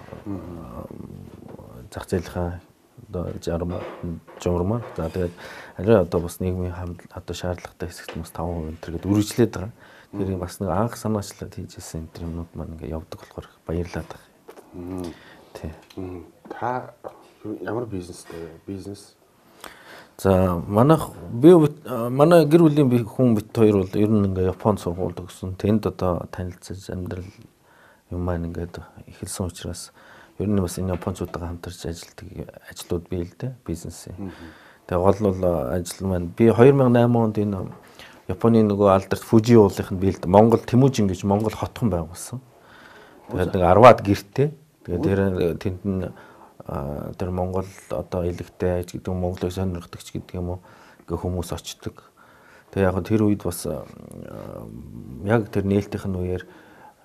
зах зээлийнхаа одоо журмаар за тэгээд арай одоо бас нийгмийн одоо шаардлагатай хэсэгт бас 5% энтергээд үргэлжлээд байгаа. Тэр бас нэг анх санаачлаад хийжсэн энэ юмнууд маань ингээд явдаг болохоор баярлаад байгаа. Тий. Та ямар бизнестэй бизнес? За манай гэр бүлийн хүн бит хоёр бол ер нь ингээ Японд сургууль төгссөн. Тэнд одоо танилцаж амьдрал юм маань ингээд эхэлсэн учраас ер нь бас энэ Япончуудаа хамтарч ажилладаг ажлууд бий л дээ бизнесийн. Тэгээ гол бол ажил маань би 2008 онд энэ Японы нөгөө алдарт Фужи уулынх нь бий л дээ. Монгол Тэмүүжин гэж Монгол хотхон байгуулсан. Тэгээд нэг 10-аад гэртээ. Тэгээд тэнд нь тэр Монгол одоо илэгтэй аж гэдэг Монголыг сонирхдагч гэдэг юм уу гэ хүмүүс очдог. Тэгээ яг тэр үед бас яг тэр нээлтийнх нь үеэр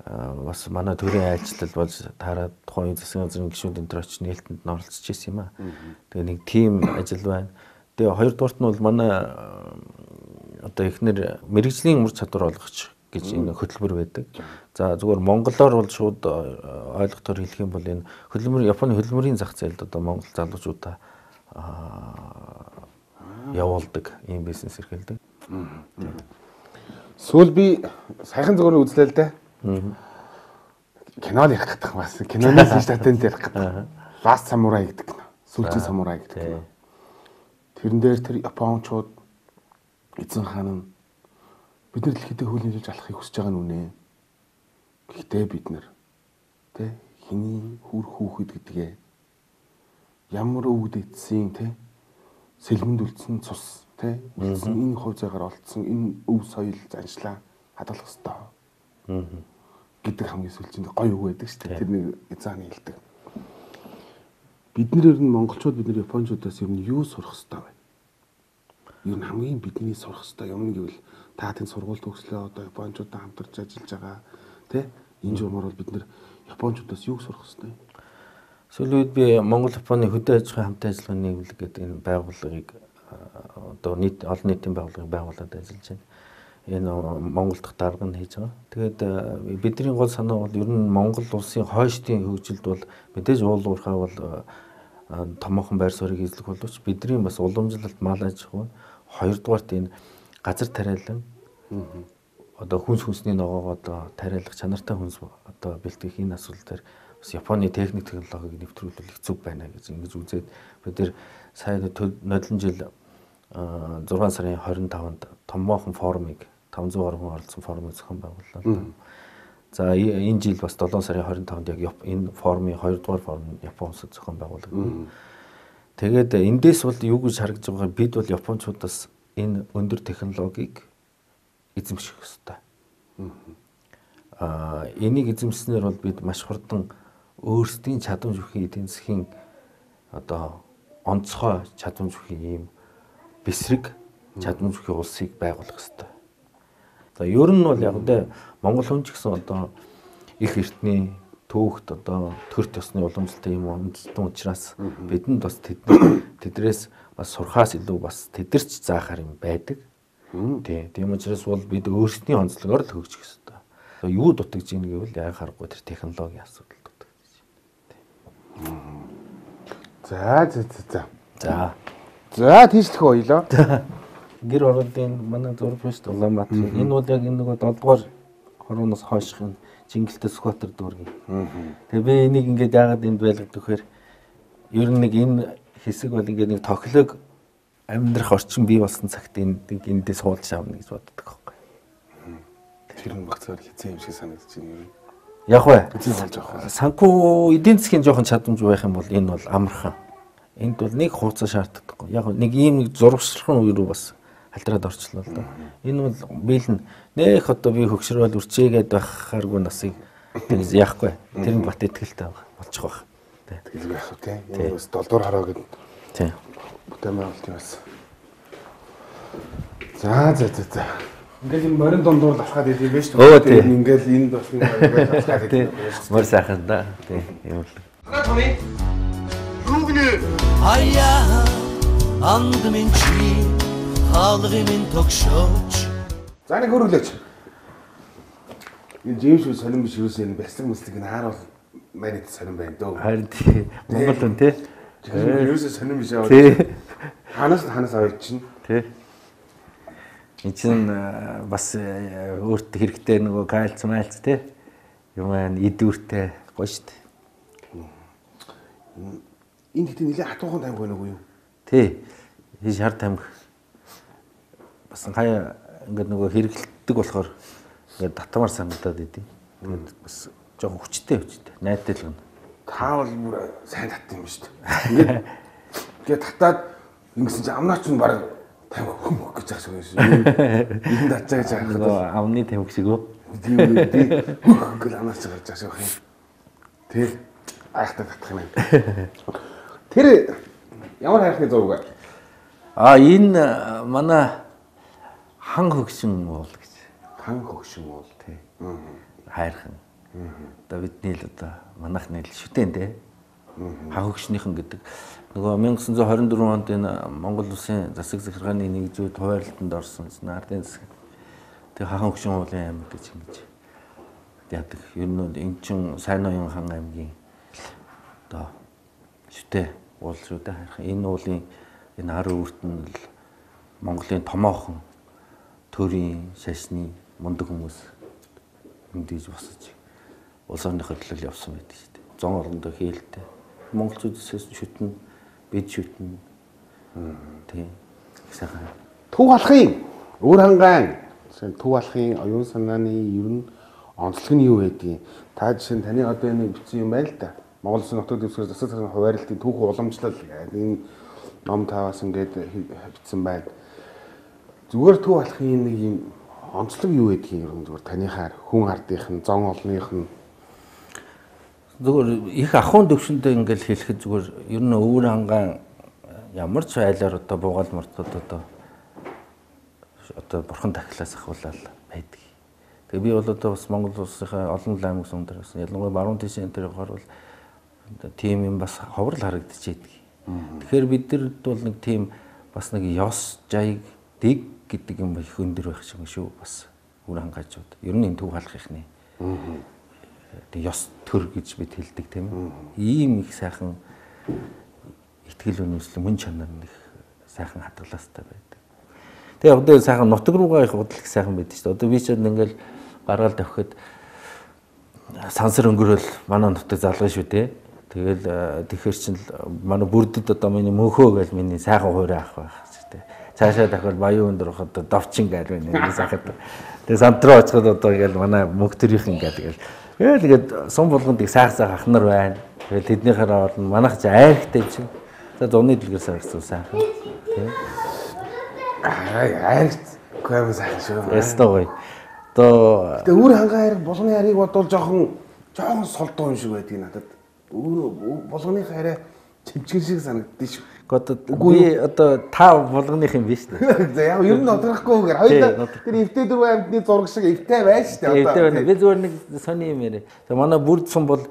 бас манай төрийн айлчлал болж таараад тухайн үеийн засгийн газрын гишүүд энэ төр очиж нээлтэнд оролцож ирсэн юм аа. Тэгээ нэг тим ажил байна. Тэгээ хоёрдугаарт нь бол манай одоо эхнэр мэрэгжлийн ур чадвар олгогч гэж энэ хөтөлбөр байдаг. За зүгээр монголоор бол шууд ойлгохоор хэлэх юм бол энэ хөтөлбөр Японы хөтөлбөрийн зах зээлд одоо монгол залуучуудаа явуулдаг ийм бизнес эрхэлдэг. Сүүл би саяхан зөвхөн үзлээ л дээ. Кино ярих гэдэг бас киноны статент ярих гэдэг. Last Samurai гэдэг кино. Сүүлчийн самурай гэдэг кино. Тэрэн дээр тэр Япончууд эзэн хаан нь бид нар дэлхийдээ хөлөөлж алахыг хүсэж байгаа нь үнэ. Гэхдээ бид нар тэ хиний хүр хүүхэд гэдгээ ямар өвд эцсийн тэ сэлмэнд үлдсэн цус тэ үлдсэн энэ хувьцаагаар олдсон энэ өв соёл заншлаа хадгалах хэрэгтэй. Гэдэг хамгийн сүүлчинд гоё үг байдаг шүү дээ. Тэр нэг эзааны хэлдэг. Бид нэр нь монголчууд бид нар японочдоос ер нь юу сурах хэрэгтэй вэ? Ер нь хамгийн бидний сурах хэрэгтэй юм гэвэл та тийм сургууль төгслөө одоо японочдод хамтарч ажиллаж байгаа тий энэ журмаар бол бид нар японочдоос юу сурах хэрэгтэй? Сүүлийн үед би Монгол Японы хөдөө аж ахуйн хамт ажиллагааны нийлэг гэдэг энэ байгууллагыг одоо олон нийтийн байгууллагыг байгуулад ажиллаж байна. Энэ Монгол дахь дарга нь хийж байгаа. Тэгээд бидний гол санаа бол ер нь Монгол улсын хойштын хөгжилд бол мэдээж уул уурхай бол томоохон байр суурийг эзлэх боловч бидний бас уламжлалт мал аж ахуй хоёрдугаарт энэ газар тариалан одоо хүнсний ногоогоо одоо тариалах чанартай хүнс одоо бэлтгэх энэ асуудал дээр бас Японы техник технологиг нэвтрүүлэх хэцүү байна гэж ингэж үзээд бид нэр сая нодлон жил 6 сарын 25-нд томоохон форумыг 500 орон оролцсон форумыг зохион байгууллаа. За энэ жил бас 7 сарын 25-нд яг энэ форумын 2-р форум Японд зохион байгуулагдав. Тэгээд эндээс бол юу гэж харагдж байгаа бид бол японочдоос энэ өндөр технологиг эзэмших ёстой. Энийг эзэмснээр бол бид маш хурдан өөрсдийн чадамж бүхий эдийн засгийн одоо онцгой чадамж бүхий ийм бэсрэг чадамж бүхий улсыг байгуулах ёстой. За ер нь бол яг тэ Монгол хүн ч гэсэн одоо их эртний түүхт одоо төр төсны уламжлалтай юм үндэстэн учраас бидэнд бас тэдрээс бас сурхаас илүү бас тэдэрч заахаар юм байдаг. Тийм учраас бол бид өөрсдийн онцлогоор л хөгжих ёстой. Юу дутагдж ийн гэвэл яг харахгүй тэр технологийн асуудал дутагдж байна. За тийшлэх ойлоо. Гэр оролтын манай зураг биш Улаанбаатар. Энэ бол яг энэ нөгөө 7-р хорооноос хойшихын Чингэлтэй Сүхбаатар дүүргийн. Тэгээ би энийг ингээд яагаад энд байлгадаг вэхээр ер нь нэг энэ хэсэг бол ингээд нэг тоглог амьдрах орчин бий болсон цагт эндээ суулж авна гэж боддог байхгүй. Тэр нь багцаар хэцүү юм шиг санагдаж байна. Яг бай. Хэцүү болж байгаа. Санхүү эдийн засгийн жоохон чадамж байх юм бол энэ бол амархан. Энд бол нэг хуудас шаарддаггүй. Яг нэг ийм зурагчлалхан үе рүү бас халтраад орчлоо л доо. Энэ бол биелэн нэх одоо би хөгшрөөл үрчээгээд байхааргүй насыг тэгж яахгүй. Тэр нь бат итгэлтэй болчих واخ. Тэгэл байх уу те. Энэ бас 7 дугаар хараа гэдэг. Тийм. Бүтээн байгуулт юм бас. За. Ингээл энэ морин дундуур алхаад идэв байж шүү дээ. Ингээл энэ бас ингээд алхаад идэв. Мөр сайхан да. Тийм юм л. Томми. Юу гинэ? Аяа андмын чи хаалгын тогшооч. За нэг хөрвөлөөч. Энэ Джеймс биш сонирн биш юусэн энэ бяцлаг мэслэг энэ хааруул манайд сонирн байна дөө. Харин тий. Монгол хүн тий. Юусэн сонирн биш аа. Ханаас аваад чинь. Тий. Энд чинь бас өөртөө хэрэгтэй нөгөө кальц майлц тий. Юм аа идүүртэй гоё шүү дээ. Энэ хэдийн нэлээд хатуухан таймг байна уу юу? Тий. Энэ шар таймг бас хаяа ингээд нөгөө хэрэглэдэг болохоор ингээд татмаар санагдаад идэв. Тэгээд бас жоохон хүчтэй. Найдтай л гэнэ. Та бол бүр сайн татсан юм шүү дээ. Ингээд татаад ингэсэн чинь амнаач нь баг таймг хөмөх гэж байгаа шүү. Энд татчаа гэж байгаа. Нөгөө амны таймг шиг үү? Тийм үү. Гэл амнаач гарч байгаа шүү. Тэг айхтаа татах юм байна. Тэр ямар хайрхны зураг вэ? Энэ манай хан хөгшин уул гэж. Хан хөгшин уул тий. Хайрхан. Одоо бидний л одоо манайхны л шүтэн те. Хагогчныхан гэдэг. Нөгөө 1924 онд энэ Монгол Улсын засаг захиргааны нэгжүүд хуваарлалтанд орсон ардын засаг. Тэгээ хахан хөгшин уулын аймаг гэж ингэж яадаг. Ер нь энэ чин Сайн Ноён хан аймгийн одоо шүтээ уул шүү дээ. Энэ уулын энэ хар өвөрт нь л Монголын томоохон төрийн шашны мундаг хүмүүс мэдээж босож улс орныхоо төлөө явсан байдаг шүү дээ. Зон орондоо хийлтэй. Монголчуудаас шүтэн, бид шүтэн. Тийм. Сайхан. Төв алхын өөр хангаан төв алхын оюун санааны ер нь онцлог нь юу байдгийг та жишээ нь таны одоо энэ бичсэн юм байна л да. Монгол Улсын нутаг дэвсгэр засаг захиргааны хуваарлалтын түүх уламжлал энэ ном таваас ингээд бичсэн байна. Зүгээр төв алхын нэг юм онцлог юу байдгийг ер нь зүгээр таныхаар хүн ардынх нь зон олных нь зүгээр их ахуйн төвшөндөө ингээл хэлэхэд зүгээр ер нь өвөр хангаан ямар ч айлаар одоо буугаал мартууд одоо бурхан тахилаас ахуулаад байдаг. Тэгээ би бол одоо бас Монгол улсынхаа олон аймаг сумдар бас ялангуяа баруун тишийн энэ төрөөр бол тийм юм бас ховрол харагдчихэйдэг. Тэгэхээр бидэрд бол нэг тийм бас нэг ёс жайг дэг гэдэг юм их өндөр байх шиг шүү бас өвөр хангаачууд. Ер нь энэ төв халахны. Тэг ёс төр гэж бид хэлдэг тийм ээ. Ийм их сайхан итгэл үнэмшил мөн чанар нэг сайхан хадгалаастай байдаг. Тэгээ одоо сайхан нутаг руугаа их бодлох сайхан байдаг шүү дээ. Одоо би ч ингээл гаргаал тавихад сансар өнгөрөөл манай нутаг залгана шүү дээ. Тэгэл тэгэхэр чин манай бүрдэд одоо миний мөнхөө гэж миний сайхан хуурай авах байх шүү дээ. Цаашаа дахиад баян өндөр хот давчин гал байна. Сайхан. Тэгээ сантруу очиход одоо ингээл манай мөнх төрийнхэн гэдэг. Тэгээд сум болгонд их сайхан ах нар байна. Тэгээд тэднийхээр орно. Манайх ч айрхтай юм чинь. За зуны дэлгэрээс гарсан сайхан. Тийм. Айрхт гоо сайхан шүү. Ястаа гоё. Одоо тэгээ өвөр хангаан хайр болгоны харийг бодвол жоохон солдоо юм шиг байдгийг надад. Өвөр болгоны хайраа чимчгэн шиг санагддээ шүү. Би одоо та болгоных юм биш үү? За яг ер нь одохгүй гэхээр хоёул тэр эвтэй дөрвөн амьтны зураг шиг эвтэй байж шүү дээ. Одоо би зүгээр нэг сони юм яриа. За манай бүрд сум бол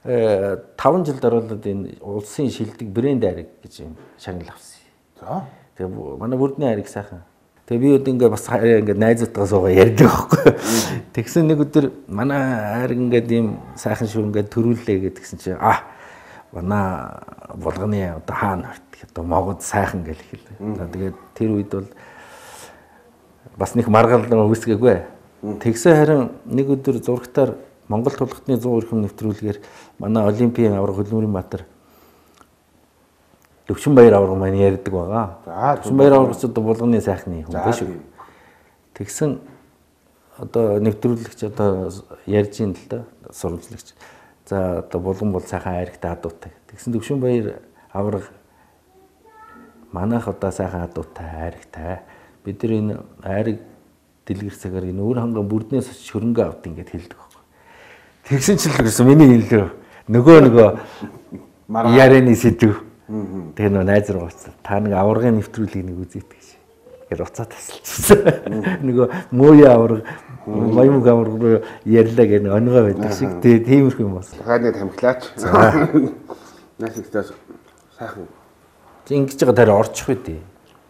5 жил дараалал энэ улсын шилдэг брэнд айраг гэж юм шагнал авсан. За. Тэгээ манай бүрдний айраг сайхан. Тэгээ би одоо ингээ бас ингээ найзуудтайгаа суугаа ярьдаг байхгүй. Тэгсэн нэг өдөр манай айраг ингээ ийм сайхан шүү ингээ төрүүллээ гэдгсэн чинь манай болгоны одоо хаана хорт одоо могод сайхан гэл хэлээ. За тэгээд тэр үед бол бас нэг маргалдан үүсгээгүй. Тэгсэн харин нэг өдөр зурагтаар Монгол тулгтны 100 өрхөм нэвтрүүлгээр манай Олимпийн авраг Хөлмөрийн Баатар Төвшинбаяр авраг маань ярьдаг байгаа. За Төвшинбаяр аврагч одоо болгоны сайхны хүн биш үү? Тэгсэн одоо нэвтрүүлэгч одоо ярьж ин л да сурвалжлагч. За одоо булган бол сайхан айрагтай адуутай. Тэгсэн Төвшинбаяр авраг манайх одоо сайхан адуутай айрагтай. Бид нар энэ айраг дэлгэрсэгээр энэ өвөр хангаан бүрднээс очиж хөрөнгө авд ингээд хэлдэг байхгүй. Тэгсэн ч л гэсэн миний хэлээ. Нөгөө ярианы сэдв. Тэгээ нөө найз руу уцаа. Та нэг аврагын нэвтрүүлгийг нэг үзээт гэж. Тэгэхээр уцаа тасалчихсан. Нөгөө мөөе авраг, баямг авраг руу ярьлаа гэх нэг онгой байдаг шиг. Тэгээ тиймэрхүү юм бас. Хаад тамхилаач. Наас ихтэй сайхан. Ингэж байгаа тарай орчих үдээ.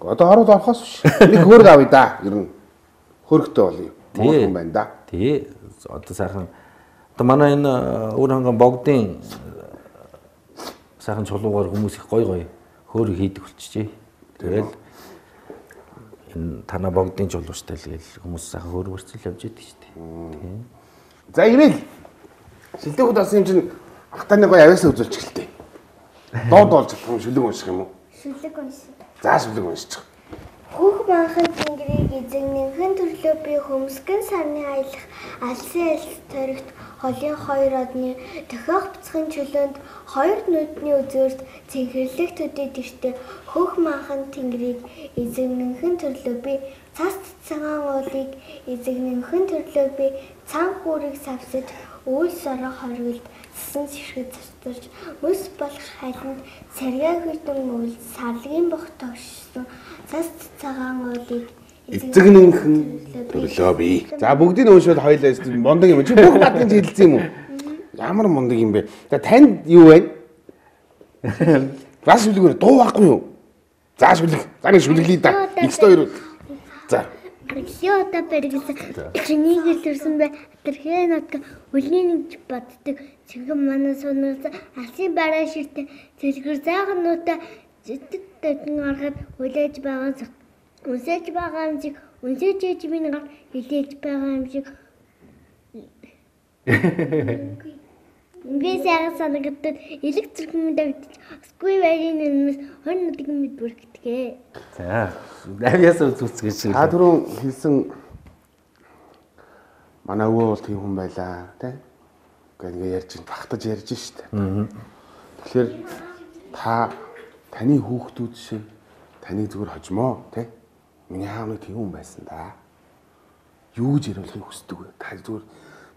Одоо ороод орохоос биш. Нэг хөрг авъя да. Ер нь хөргтэй болъё. Монгол хүн байна да. Тий. Одоо сайхан. Одоо манай энэ өвөр хангаан богдын сайхан чулуугаар хүмүүс их гой хөөрг хийдэг болчихжээ. Тэгэл энэ танаа богдын чулууштай л гээл хүмүүс сайхан хөөрг өрцөл явж идэг шүү дээ. Тийм. За ивэл шилдэг удаас юм чинь ахтаны гой авиасаа үзүүлж гэлтэй. Доод болж байгаа шүлэг унших юм уу? Шүлэг унших. За шүлэг уншчих. Хүүх манхан тэнгэрийг эзэгнэнхэн төрлөө би хөмсгөн сарны аялах алсын альс торигт холын хоёр одны дохиох бяцхан чөлөөнд хоёр нүдний үзүүрт цэнхэрлэг төдий тэртээ хүүх манхан тэнгэрийг эзэгнэнхэн төрлөө би цас цагаан уулыг эзэгнэнхэн төрлөө би цан хүүрийг савсаж үйл сороо хоригд цэсэн ширхэг цэцэрч мөс болох хайланд сарьяа хүйдэн үйл сарлагын бох тогшсон цас цагаан уулыг эзэгнэнхэн Төрлөө би. За бүгдийг уушвал хоёлаа мундаг юм. Чи бүх бадгийн хэлсэн юм уу? Ямар мундаг юм бэ? За танд юу вэ? Заш шүлгэр дуу байхгүй юу? За шүлэг. За нэг шүлглээ да. X2. За. Аргилиота бэргэлсэн чинийг илэрсэн бай тэрхээ натга үлний нэг боддог чигэн манай сунаас алсын бараа ширтэ зэрэгэр заагнуудаа зэтэд тагн аргаад хүлээж байгаа зүг үнсэж байгаа юм шиг үнсэж ээж минь гар хилээж байгаа юм шиг би сайн санагдаад электрикийн давтаж скуй варийн нэмээс хонь нэг мэд бүрхтгээ. За. Навьяас үзүүлцгээ шиг. Та түрүүн хэлсэн манай өвөө бол тийм хүн байлаа, тий? Ингээ ярьж багтаж ярьж штэ. Тэгэхээр таны хүүхдүүд шиг таныг зүгээр хожмоо, тий? Миний аав нэг тийм хүн байсан да. Юу гэж яриулахыг хүсдэг вэ? Та зүгээр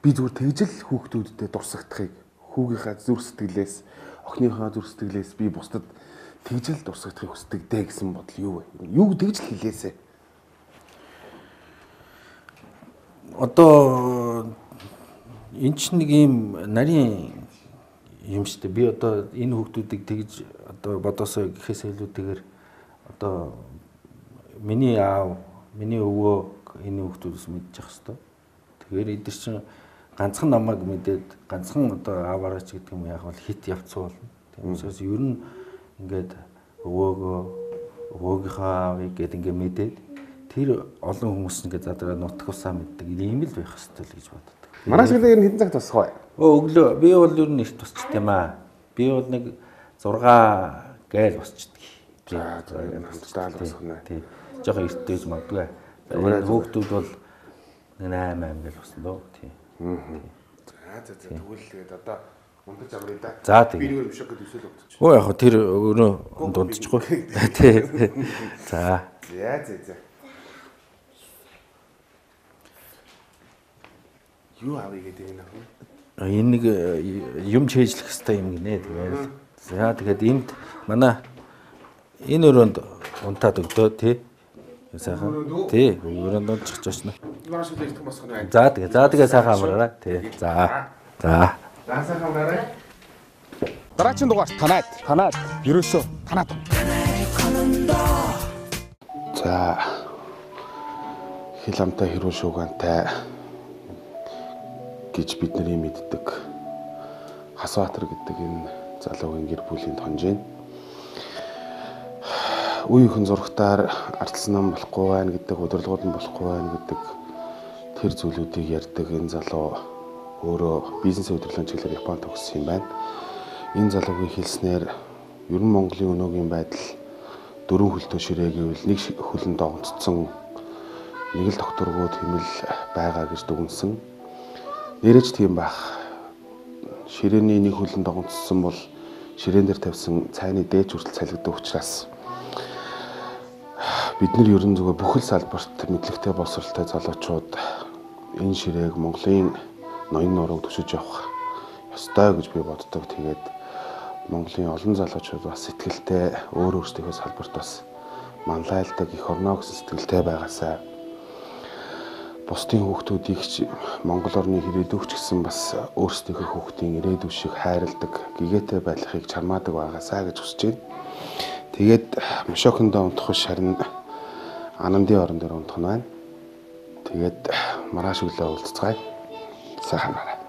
би зүгээр тэгжэл хүүхдүүдэд дурсагдахыг хүүгийнхаа зүр сэтгэлээс, охиныхоо зүр сэтгэлээс би бусдад тэгжэл дурсагдахыг хүсдэг дээ гэсэн бодол юу вэ? Юу тэгжэл хэлээсэ? Одоо энэ ч нэг юм нарийн юм шүү дээ. Би одоо энэ хүүхдүүдийг тэгж одоо бодосоо гэхээс илүүтэйгээр одоо миний аав, миний өвөө энэ хүүхдүүдээс мэдчих хэвээр. Тэгэхээр эдгээр чинь ганцхан намайг мэдээд ганцхан одоо аавараач гэдэг юм яг бол хит явцсан болно. Тэгмээс ер нь ингээд өвөөгийнхөө аавыг гээд ингээд мэдээд тэр олон хүмүүс ингээд задраа нутгусаа мэддэг ийм л байх хэрэгтэй л гэж боддог. Манай шиг л ер нь хэдэн цагт тусах вэ? Өглөө би бол ер нь их тусчт юм аа. Би бол нэг 6 гайл босчдөг. За хамтдаа л босох нэ. Тий. Жохон эртдэж магадгүй. Хүүхдүүд бол 8 гайл босно доо. Тий. За тэгвэл тэгээд одоо унтаж амрыг да. За тийм. Би нэг юм шиг гэдэг үсэл өгдөж. Оо яг тэр өөрөө дундчихгүй. Тий. За. За. Юу авъя гэдэг юм аа? Энэ нэг юм чэйжлэх хэвээр юм гинэ тэгээд. За тэгээд энд манай энэ өрөөнд унтаад өгдөө тий. Сайхан. Тий, өрөөнд унтчих очно. Маш их их босох нь байна. За тэгээ сайхан амраарай. Тий. За. Сайхан амраарай. Дараагийн дугаар танаад. Ерөөсөө танаад. За. Хил амтай хэрүүл шуугантай гэж бидний мэддэг Хасбаатар гэдэг энэ залуугийн гэр бүлийн тонжийн үе хүн зургатаар ардсан нам болохгүй байна гэдэг, удирдлагууд нь болохгүй байна гэдэг тэр зүйлүүдийг ярьдаг энэ залуу өөрөө бизнесийн удирдлагын чиглэлээр Японд төгссөн юм байна. Энэ залуугийн хэлснээр ер нь Монголын өнөөгийн байдал 4 хөлтөө ширээ гэвэл нэг хөлөнд догонцсон нэг л докторгүй тэмэл байгаа гэж дүгнсэн. Нэрэж тийм байх. Ширээний нэг хөлөнд догонцсон бол ширээн дээр тавьсан цайны дээч хүртэл цалигддаг учраас бид нар ерөн зүгээр бүхэл салбарт мэдлэгтэй боловсралтай залуучууд энэ ширээг Монголын ноён нурууг төшөж явах ёстой гэж би боддог. Тэгээд Монголын олон залуучууд бас сэтгэлтэй өөр өөрсдийнхөө салбарт бас манлайлдаг их орно гэсэн сэтгэлтэй байгаасаа бусдын хүүхдүүдийг Монгол орны ирээдүйч гэсэн бас өөрсдийнхөө хүүхдийн ирээдүй шиг хайрладаг, гэгээтэй байхыг чармаадаг байгаасаа гэж хүсэж байна. Тэгээд Мошокондоо унтах шарн Анандын орон дээр унтах нь байна. Тэгээд маргааш өглөө уулзцгаая. Сайхан байна.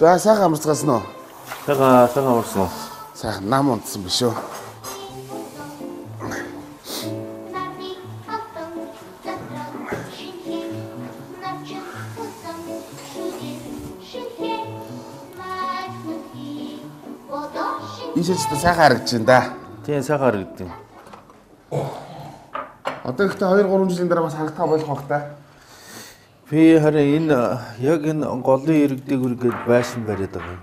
За сайхан амарцгаасан уу? Сайхан амарсан уу? Сайхан нам унтсан биш үү? Ийшээч та сайхан харагдаж байна да. Тийм сайхан харагдав. Одоо ихтэй 2 3 жилийн дараа бас харагдах болох бах та. Би харин энэ яг энэ голын иргэдэг үргээд байшин бариад байгаа юм.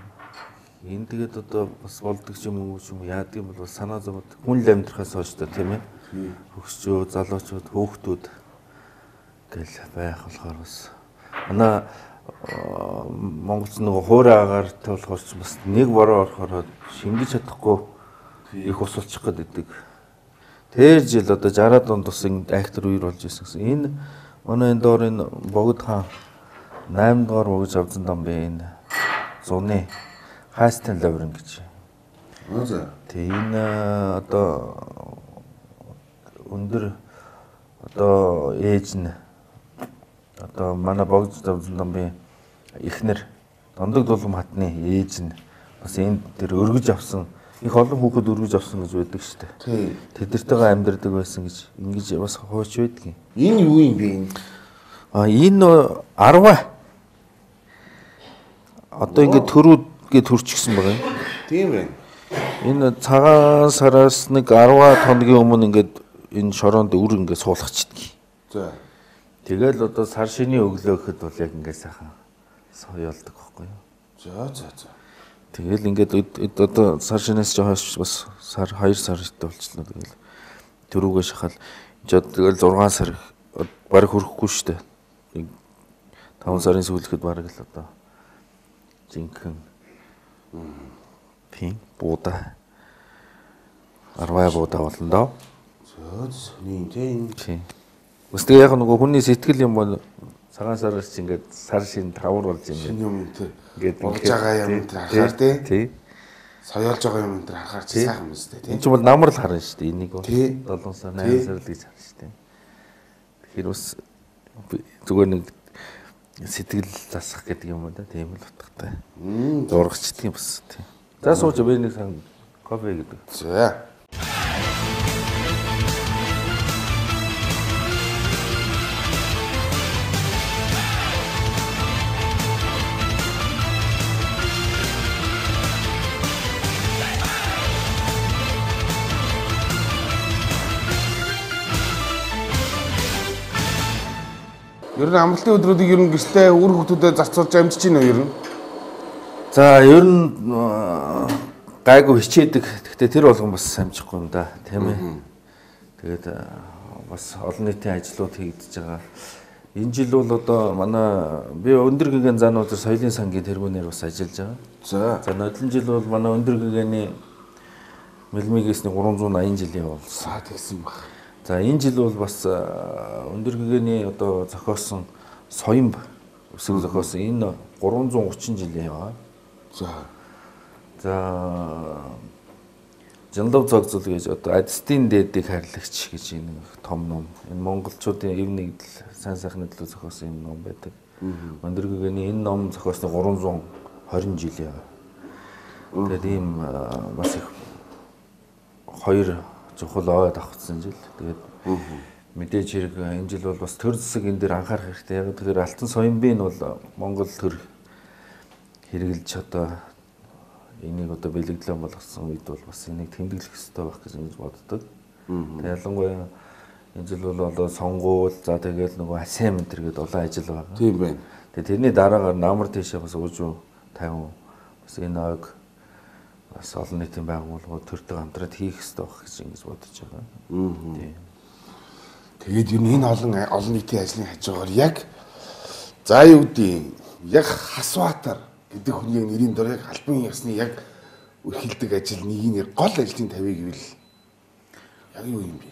Энэ тэгээд одоо бас болдог ч юм уу яадаг юм бол санаа зовоод хүн л амьдрахаас хойш та тийм ээ. Хөгсчөө, залуучууд, хүүхдүүд гэл байх болохоор бас манай монголч нөгөө хуурай агаартай болохоор ч бас нэг бороо орохоор шингэж чадахгүй их ус болчих гээд идэг. Тэр жил одоо 60-аад онд бас ингэ айхтар үер болж ирсэн гэсэн. Энэ манай энэ доор энэ богд хаан 8 дугаар богж авсан дам бэ энэ зуны Хайстан лаврын гэж. Тэгээ энэ одоо өндөр одоо ээж нь одоо манай богд авсан дам бэ ихнэр Дондог дулам хатны ээж нь бас энэ тэр өргөж авсан их олон хүүхэд өргөж авсан гэж байдаг шүү дээ. Тий. Тэдэртэйгээ амьдардаг байсан гэж ингэж бас хооч байдгийг. Энэ юу юм бэ энэ? Энэ 10 одоо ингэ төрүүд төрчихсөн байгаа юм. Тийм байна. Энэ цагаан сараас нэг 10 хоногийн өмнө ингээд энэ шороонд үр ингээд суулгачдаг. За. Тэгэл одоо сар шинийн өглөө гэхэд бол яг ингээд сайхан соёолдог байхгүй юу? За. Тэгэл ингээд одоо сар шинээс жохоос бас сар 2 сар ихтэй болчихлоо. Тэгэл төрүүгээ шахал тэгэл 6 сар бараг хүрэхгүй шүү дээ. 5 сарын сүүлэхэд бараг л одоо жинхэнэ пин буудаа 10 буудаа болно доо. Сони тийм. Бас тэгээ яг нөгөө хүний сэтгэл юм бол цагаан сараас чи ингээд сар шин тавар болж юм. Шинэ юм тэр Ингээд болж байгаа юм тэр харахаар тий. Тий. Соёолж байгаа юм тэр харахаар чи сайхан юм шүү дээ тий. Энд чинь бол намар л харна шүү дээ. Энийг бол Тий. 7 сар 8 сар л гэж харна шүү дээ. Тэгэхээр бас зүгээр нэг сэтгэл засах гэдэг юм да. Тийм л утгатай. Зурагчдаг юм бас тий. За сууж би нэг сан кофе гэдэг. За. Ер нь амралтын өдрүүдийг ер нь гэртээ үр хөвгүүдэд зарцуулж амжиж байна уу ер нь? За ер нь гайгүй хичээдэг. Гэхдээ тэр болгон бас амжихгүй юм да. Тийм ээ. Тэгээд бас олон нийтийн ажлууд хийгдэж байгаа. Энэ жил бол одоо манай би өндөр гэгээн зан удир соёлын сангийн тэргүүнээр бас ажиллаж байгаа. За нодлон жил бол манай өндөр гэгээний мэлмигээсний 380 жилийн явуулсан. Тэгсэн баг. За энэ жил бол бас өндөр гэгээний одоо зохиосон соёмб өсөг зохиосон энэ 330 жилийн яваа. За Жанлав цогцол гэж одоо Адистийн дээдийг харьлагч гэж энэ том ном. Энэ монголчуудын эв нэгдэл сайн сайхны төлөө зохиосон юм ном байдаг. Өндөр гэгээний энэ ном зохиосны 320 жил яваа. Тэгээд ийм бас их хоёр чухал ой давхцсан жил. Тэгээд мэдээж хэрэг энэ жил бол бас төр засаг энэ дээр анхаарах хэрэгтэй. Яг тэгэхээр алтан соёмбын бол Монгол төр хэрэгжилж одоо энийг одоо бэлэгдлэн болгосон үед бол бас энийг тэмдэглэх хэрэгтэй байх гэж ингэж боддог. Тэгээд ялангуяа энэ жил бол одоо сонгуул за тэгээд нөгөө асем энэ гэдэг олон ажил байгаа. Тийм байна. Тэгээд тэрний дараагаар намар тийшээ бас уужуу 50 бас энэ ойг бас олон нийтийн байгууллагууд төртөг хамтраад хийх хэрэгтэй байх гэж ингэж бодож байгаа. Тийм. Тэгээд ер нь энэ олон нийтийн ажлын хажуугаар яг за юу гэдэг яг Хасватар гэдэг хүний яг нэрийн дор яг албан ёсны яг өрхилдэг ажил нэг гол ажлын тавийг гэвэл яг юу юм бэ?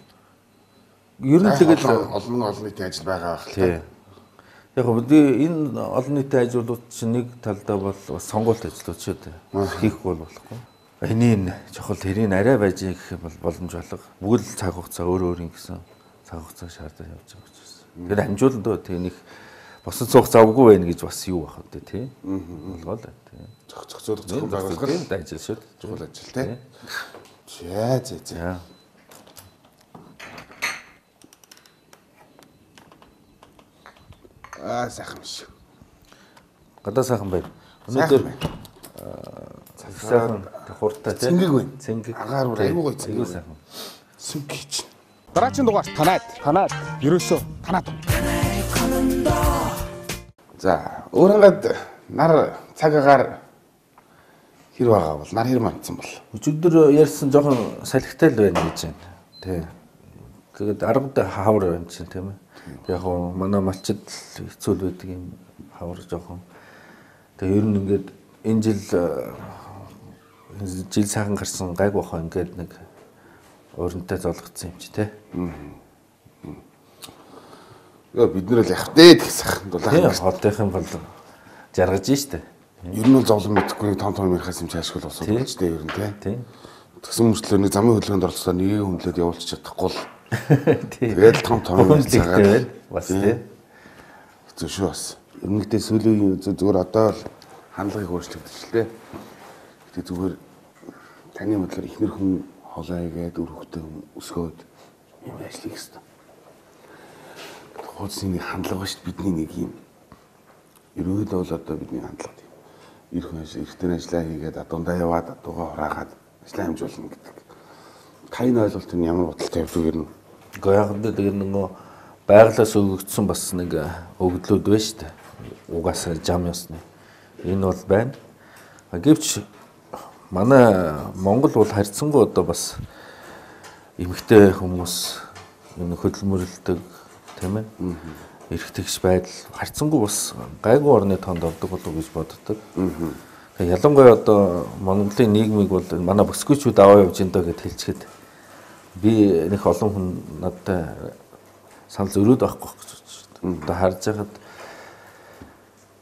Ер нь тэгэл олон нийтийн ажил байгаа байх л та. Яг гоо энэ олон нийтийн ажлууд чинь нэг талдаа бол бас сонгуульт ажлууд шүү дээ. Хийхгүй болохгүй. Энийг чухал тэрийг арай байж гэх бол боломж болго. Бүгд цаг хугацаа өөр ингэсэн цаг хугацаа шаардаж явж байгаа ч гэсэн. Тэгэхээр амжуулан дөө тэг нэг босод цух завгүй байх гэж бас юу байх вэ тий? Болгоо л тий. Зохицуулах зөвхөн байгууллагын ажил шүү дээ. Чухал ажил тий. За. Сайхан биш. Гадаа сайхан байна. Өнөөдөр сайхан хурдтай тий. Цэнгэг байна. Цэнгэг. Агаар айгуу гоё цэнгэг. Айгуу сайхан. Сүгч. Дараагийн дугаар танаад. Ерөөсөө танаад. За, өөрөнгөд нар цаг агаар хэр байгаа бол нар хэр мандсан бол. Өчигдөр ярьсан жоохон салхитай л байна гэж байна. Тий. Тэгээд 10-д хавар байна чинь тийм ээ. Яг гоо манай малчид хэцүү л байдаг юм хавар жоохон. Тэгээ ер нь ингээд энэ жил сайхан гарсан гайг бахаа ингээд нэг өөрөнтэй золгоцсон юм чи тий. Бид нэр л явах дээ гэх сайхан дулаан. Хотынхан бол жаргаж штэ. Ер нь бол зовлон мэдхгүй том ярихаас юм чаашгүй болсон гэж дээ ер нь тий. Тэгсэн мөрчлөө нэг замын хөдөлгөөнд оролцоо нэг хүнлээд явуулчих чадахгүй л. Тэгээд том цагаар бас тий. Хэцүү шүү бас. Өмнөдөө сүүлийн зүгээр одоо л хандлагыг өөрчлөгдөж л тий. Гэтэ зүгээр таны бодлоор ихнэр хүн холойгээд үр хөвгтөө өсгөөд юм ажлыг хэвээр. Хуудсны хандлага шүү бидний нэг юм. Ерөөдөө бол одоо бидний хандлага тийм. Эртний ажиллаа хийгээд адуундаа яваад адуугаа хураагаад ажиллаа хэмжүүлнэ гэдэг. Таны ойлголт нь ямар бодолтой явдаг юм? Гэхдээ яг л нөгөө байгалаас өгөгдсөн бас нэг өгдлүүд байна шүү дээ. Угаасаа жам ёсны. Энэ бол байна. Гэвч манай Монгол бол харьцангуй одоо бас эмэгтэй хүмүүс энэ хөдөлмөрлөдөг тийм ээ. Эрэгтэйгч байдал харьцангуй бас гайгүй орны тоонд ордог болов гэж боддог. Тэгээ ялангуяа одоо Монголын нийгмийг бол манай бүсгүйчүүд аваа явж энэ доо гэж хэлчихэд би нэг олон хүн надтай санал зөрөөд байхгүй гэж байна. Одоо харж байхад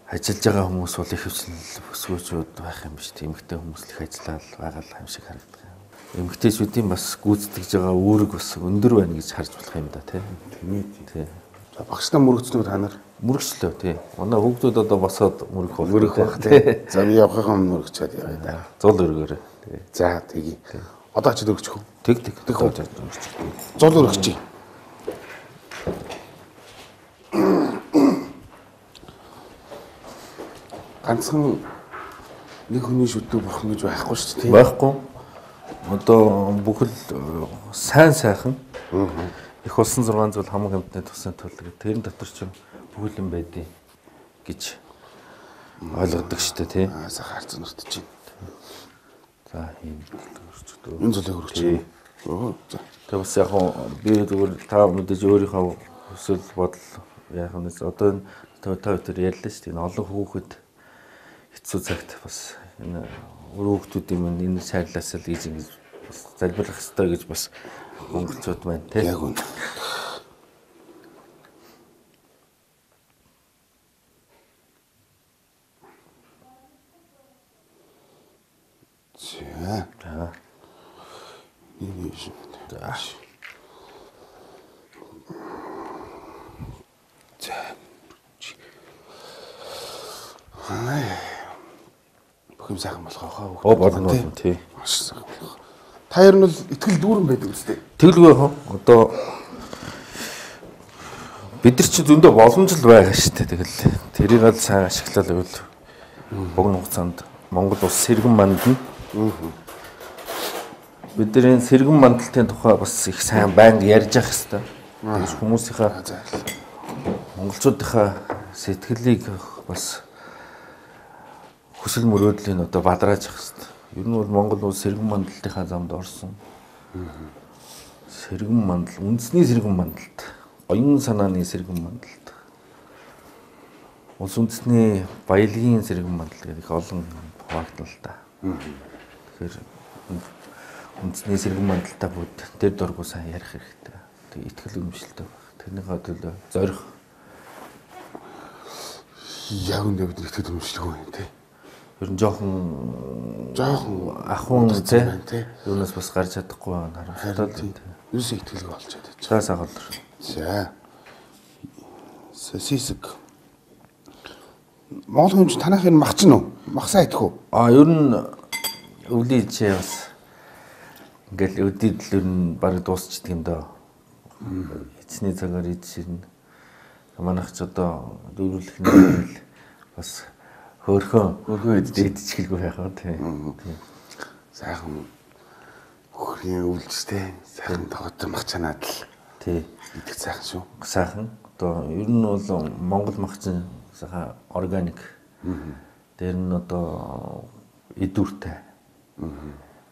ажиллаж байгаа хүмүүс бол их хвчлэн бүсгүйчүүд байх юм биш. Эмэгтэй хүмүүс л их ажиллаад байгаа юм шиг харагддаг. Эмэгтэйчүүдийн бас гүйцэтгэж байгаа үүрэг бас өндөр байна гэж харж болох юм да тийм. Тийм. Багштай мөрөгцнүүд та нар мөрөгчлөө тий. Манай хүүхдүүд одоо босоод мөрөх байх тий. За би явахын мөрөгчөөд яваа да. Зул өргөөрэй. За тэгье. Одоо ч өргөчих үү? Тэг. Зул өргөчих. Ганцхан нэг хүний шүтдэг бурхан гэж байхгүй шүү дээ. Байхгүй. Одоо бүхэл сайхан их улсын 6 зүйл хамаг амтны тусын тул тэрэн дотор ч бүхэл юм байдیں۔ гэж ойлгодог шүү дээ тий. Сайхан харцан нутж байна. За ийм өрчдөг. Энэ зүйлийг өргөчих. За. Тэгээ бас яг би зүгээр та мэдээж өөрийнхөө хүсэл бодол яг нэс одоо та тэр ярьлаа шүү дээ. Олон хүүхэд хэцүү цагт бас энэ хүүхдүүдийн энэ шаардлаас л гэж ингэж залбирлах хэрэгтэй гэж бас монголчууд байна тий. Яг үнэ. За. Энэ юм. За. Бүх юм сайхан болох аа. Болно тий. Маш сайхан болох. Та ер нь бол итгэл дүүрэн байдаг үстэй. Тэгэлгүй одоо бид нар чи зөндөө боломжтой байгаа шүү дээ. Тэгэл тэрийг л сайн ашиглал байвал богино хугацаанд Монгол улс сэргэн мандна. Бидний сэргэн мандалтын тухай бас их сайн байнга ярьж явах хэрэгтэй. Тэгж хүмүүсийнхаа монголчуудынхаа сэтгэлийг бас хүсэл мөрөөдлийн одоо бадрааж явах хэрэгтэй. Ер нь бол Монгол улс сэргэн мандалтынхаа замд орсон. Сэргэн мандал, үндэсний сэргэн мандалт, оюун санааны сэргэн мандалт. Улс үндэсний баялагын сэргэн мандалт гэдэг их олон хуваагдана л да. Тэгэхээр үндэсний сэргэн мандалтаа бүгд тэр дургу сайн ярих хэрэгтэй. Тэг итгэл үнэмшилтэй байх. Тэрнийхээ төлөө зорих. Яг үндэ бид итгэл үнэмшилгүй юм тий. Ер нь жоохон ахуун тий. Юунаас бас гарч чадахгүй байна харамсалтай. Юусе итгэлгүй болчиход байна. Цаас агуулр. За. Сосиск. Монгол хүн танах энэ мах ч нү? Махсаа идэх үү? Ер нь өвлийн чи бас ингээл өдийд л ер нь баг дуусчихдээ юм даа. Эцний цагаар идэж ирнэ. Манайх ч одоо дөрвөлх нь бас Хөөхөн идчихэлгүй байх уу тийм. Сайхан хөрийн үйлчтэй сайхан тогтсон махчанаад л тий. идэх сайхан шүү. Сайхан. Одоо ер нь бол Монгол махчин сайхан органик. Тэр нь одоо идүүртэй.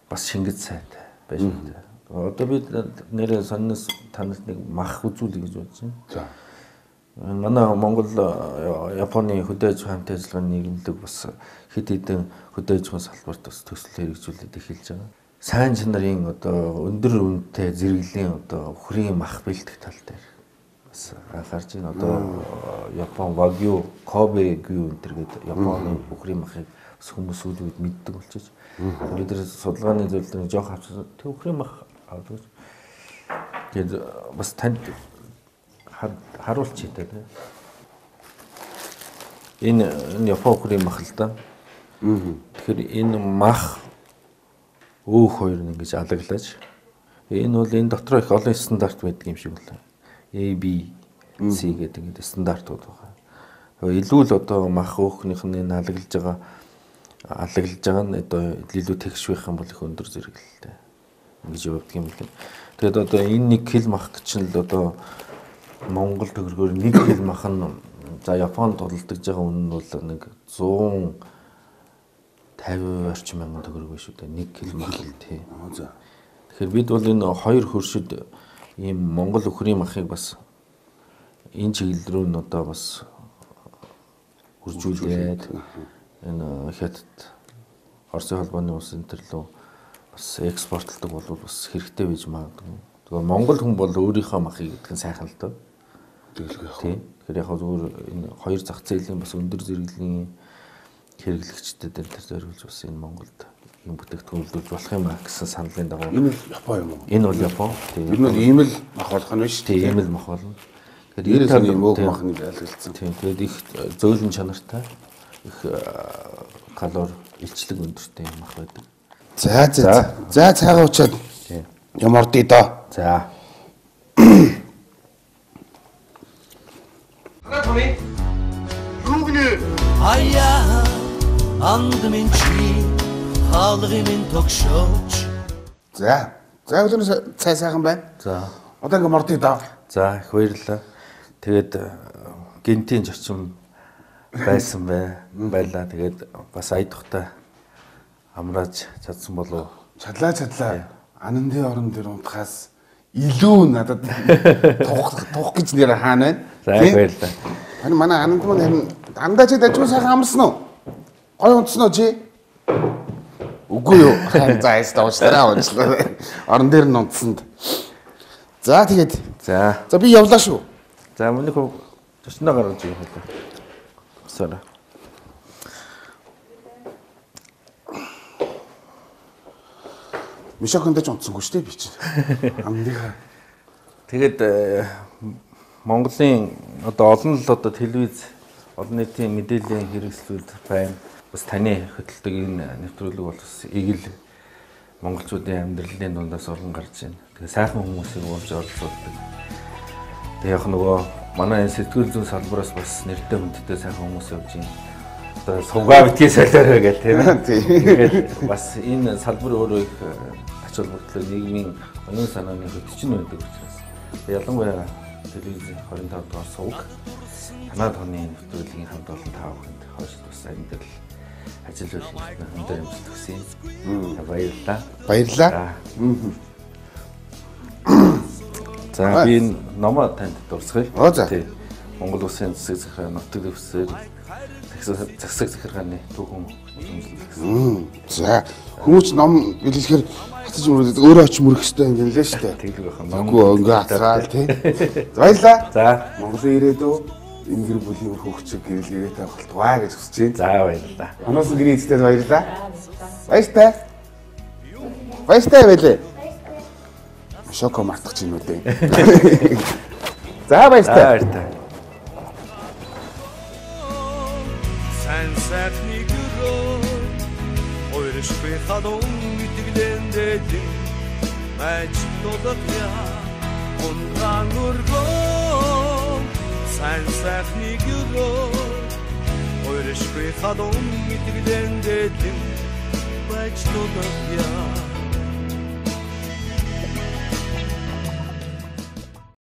Бас шингэц сайтай байж байна. Одоо бид нэрээ сонноос танаас нэг мах үзүүлэх гэж бодож байна. За. Манай Монгол Японы хөдөө аж ахуйн ажиллагааны нийгэмлэг бас хэд хэдэн хөдөө аж ахуйн салбарт бас төсөл хэрэгжүүлээд эхэлж байгаа. Сайн чанарын одоо өндөр үнэтэй зэрэглэлийн одоо хүрийн мах бэлтгэх тал дээр бас анхаарч байна. Одоо Япон Wagyu, Kobe гүү энэ гэдэг Японы хүрийн махыг бас хүмүүс үүдүүд мэддэг болчихж. Бид нар судалгааны зөвлөлтөнд жоох авсан хүрийн мах авдаг. Тэгээд бас танд харуулчих тий. Энэ Япон хүрийн мах л да. Тэгэхээр энэ мах өөх хоёр нь ингэж алаглаж энэ бол энэ дотор их олон стандарт байдаг юм шиг байна. A, B, C гэдэг ингэ стандартууд байгаа. Илүү л одоо мах өөхнийх нь энэ алаглаж байгаа нь одоо илүү тэгш байх юм бол их өндөр зэрэглэлтэй ингэж явдаг юм байна. Тэгээд одоо энэ 1 кг мах чинь л одоо Монгол төгрөгөөр 1 кг мах нь за Японд тодолдож байгаа үнэ нь бол нэг 150 орчим мянган төгрөг биш үү? 1 кг мах л тий. За. Тэгэхээр бид бол энэ хоёр хөршид ийм Монгол өхрийн махыг бас энэ чиглэл рүү нь одоо бас хуржуулээд энэ хятад Оросын холбооны улс энэ төр лөө бас экспортлдог бол бас хэрэгтэй байж магадгүй. Тэгэхээр Монгол хүн бол өөрийнхөө махыг гэдгэн сайхан л доо. Тийм. Тэгэхээр яг зөвхөн энэ хоёр зах зээлийн бас өндөр зэрэглэлийн хэрэглэгчдэд энэ төр зориулж бас энэ Монголд юм бүтээгдэхүүн үйлдвэрлэж болох юм аа гэсэн саналын дагуу. Энэ Япон юм уу? Энэ бол Япон. Тийм. Ер нь ийм л мах болох нь биш. Тийм, ийм л мах болно. Тэгэхээр энэ ийм өөх махны айлгалцсан. Тийм. Тэгээд их зөөлөн чанартай, их калори, илчлэг өндөртэй юм мах байдаг. За цаагаа уучаад. Тийм. Юм ордъё доо. За. Tommy. Юу гинэ? Аяа андмын чи хаалгын тогшооч. За өдөр цай сайхан байна. За. Одоо ингээм ордъё доо. За их баярлалаа. Тэгээд гинтийн зочин байсан байлаа. Тэгээд бас айдахтай амрааж чадсан болов. Чадлаа. Ананды орон дээр унтахаас илүү надад тух гэж нэр хаана байна? За баярлалаа. Харин манай ананд маань харин андаа чи дажгүй сайхан амарсан уу? Гой унтсан уу чи? Үгүй юу. За ястаа уучлаарай. Орон дээр нь унтсанд. За тэгээд. За би явлаа шүү. За миний хөө төснөө гаргаж ирэх хэлээ. Сара. Мишокондож унтсангүй шүү дээ би чинь. Амныхаа. Тэгээд Монголын одоо олон л одоо телевиз олон нийтийн мэдээллийн хэрэгслүүд байна. Бас таны хөтэлдэг энэ нэвтрүүлэг бол бас ийг л монголчуудын амьдралын дундаас олон гарч байна. Тэгээ сайхан хүмүүсийг уурж оролцуулдаг. Тэгээ яг нөгөө манай сэтгүүл зүйн салбараас бас нэртэй хүндтэй сайхан хүмүүс явж байна. Одоо сувгаа битгий солиорой гэх тийм ээ. Тэгээд бас энэ салбар өөрөө их ач холбогдол нийгмийн онын санааны хөтчин байдаг учраас ялангуяа телевизийн 25 дугаар сувг танаад хоны нэвтрүүлгийн хамт олон тав хүнд хойш бас амьдрал ажил үйлчлэлийн өндөр амжилт хүсье. Баярлалаа. За би номоо танд дурсгая. За. Монгол Улсын засаг захиргааны нутаг дэвсгэр засаг захиргааны түүхэн үзүүлсэн. За хүмүүс ном илэрхээр хатаж мөрөд өөрөө очиж мөрөх хэрэгтэй юм лээ шүү дээ. Тэглэг байх юм. Үгүй өнгө хацгаал тий. Баярлаа. За. Монголын ирээдүй энэ гэр бүлийн хөвгчөг гэрэл ирээтэй болтугай гэж хүсэж байна. За баярлалаа. Оноос гэрээ эцтэй баярлалаа. Баяртай байлээ. Шоко мартах чинь үү дээ. За баяртай. Sen sertni gürür Oyrışkı kadın gütüglen dedim Mecid olduk ya Ondan urgun Sen sertni gürür Oyrışkı Ойршихадон итгэлэн дэдэн байж тулах яа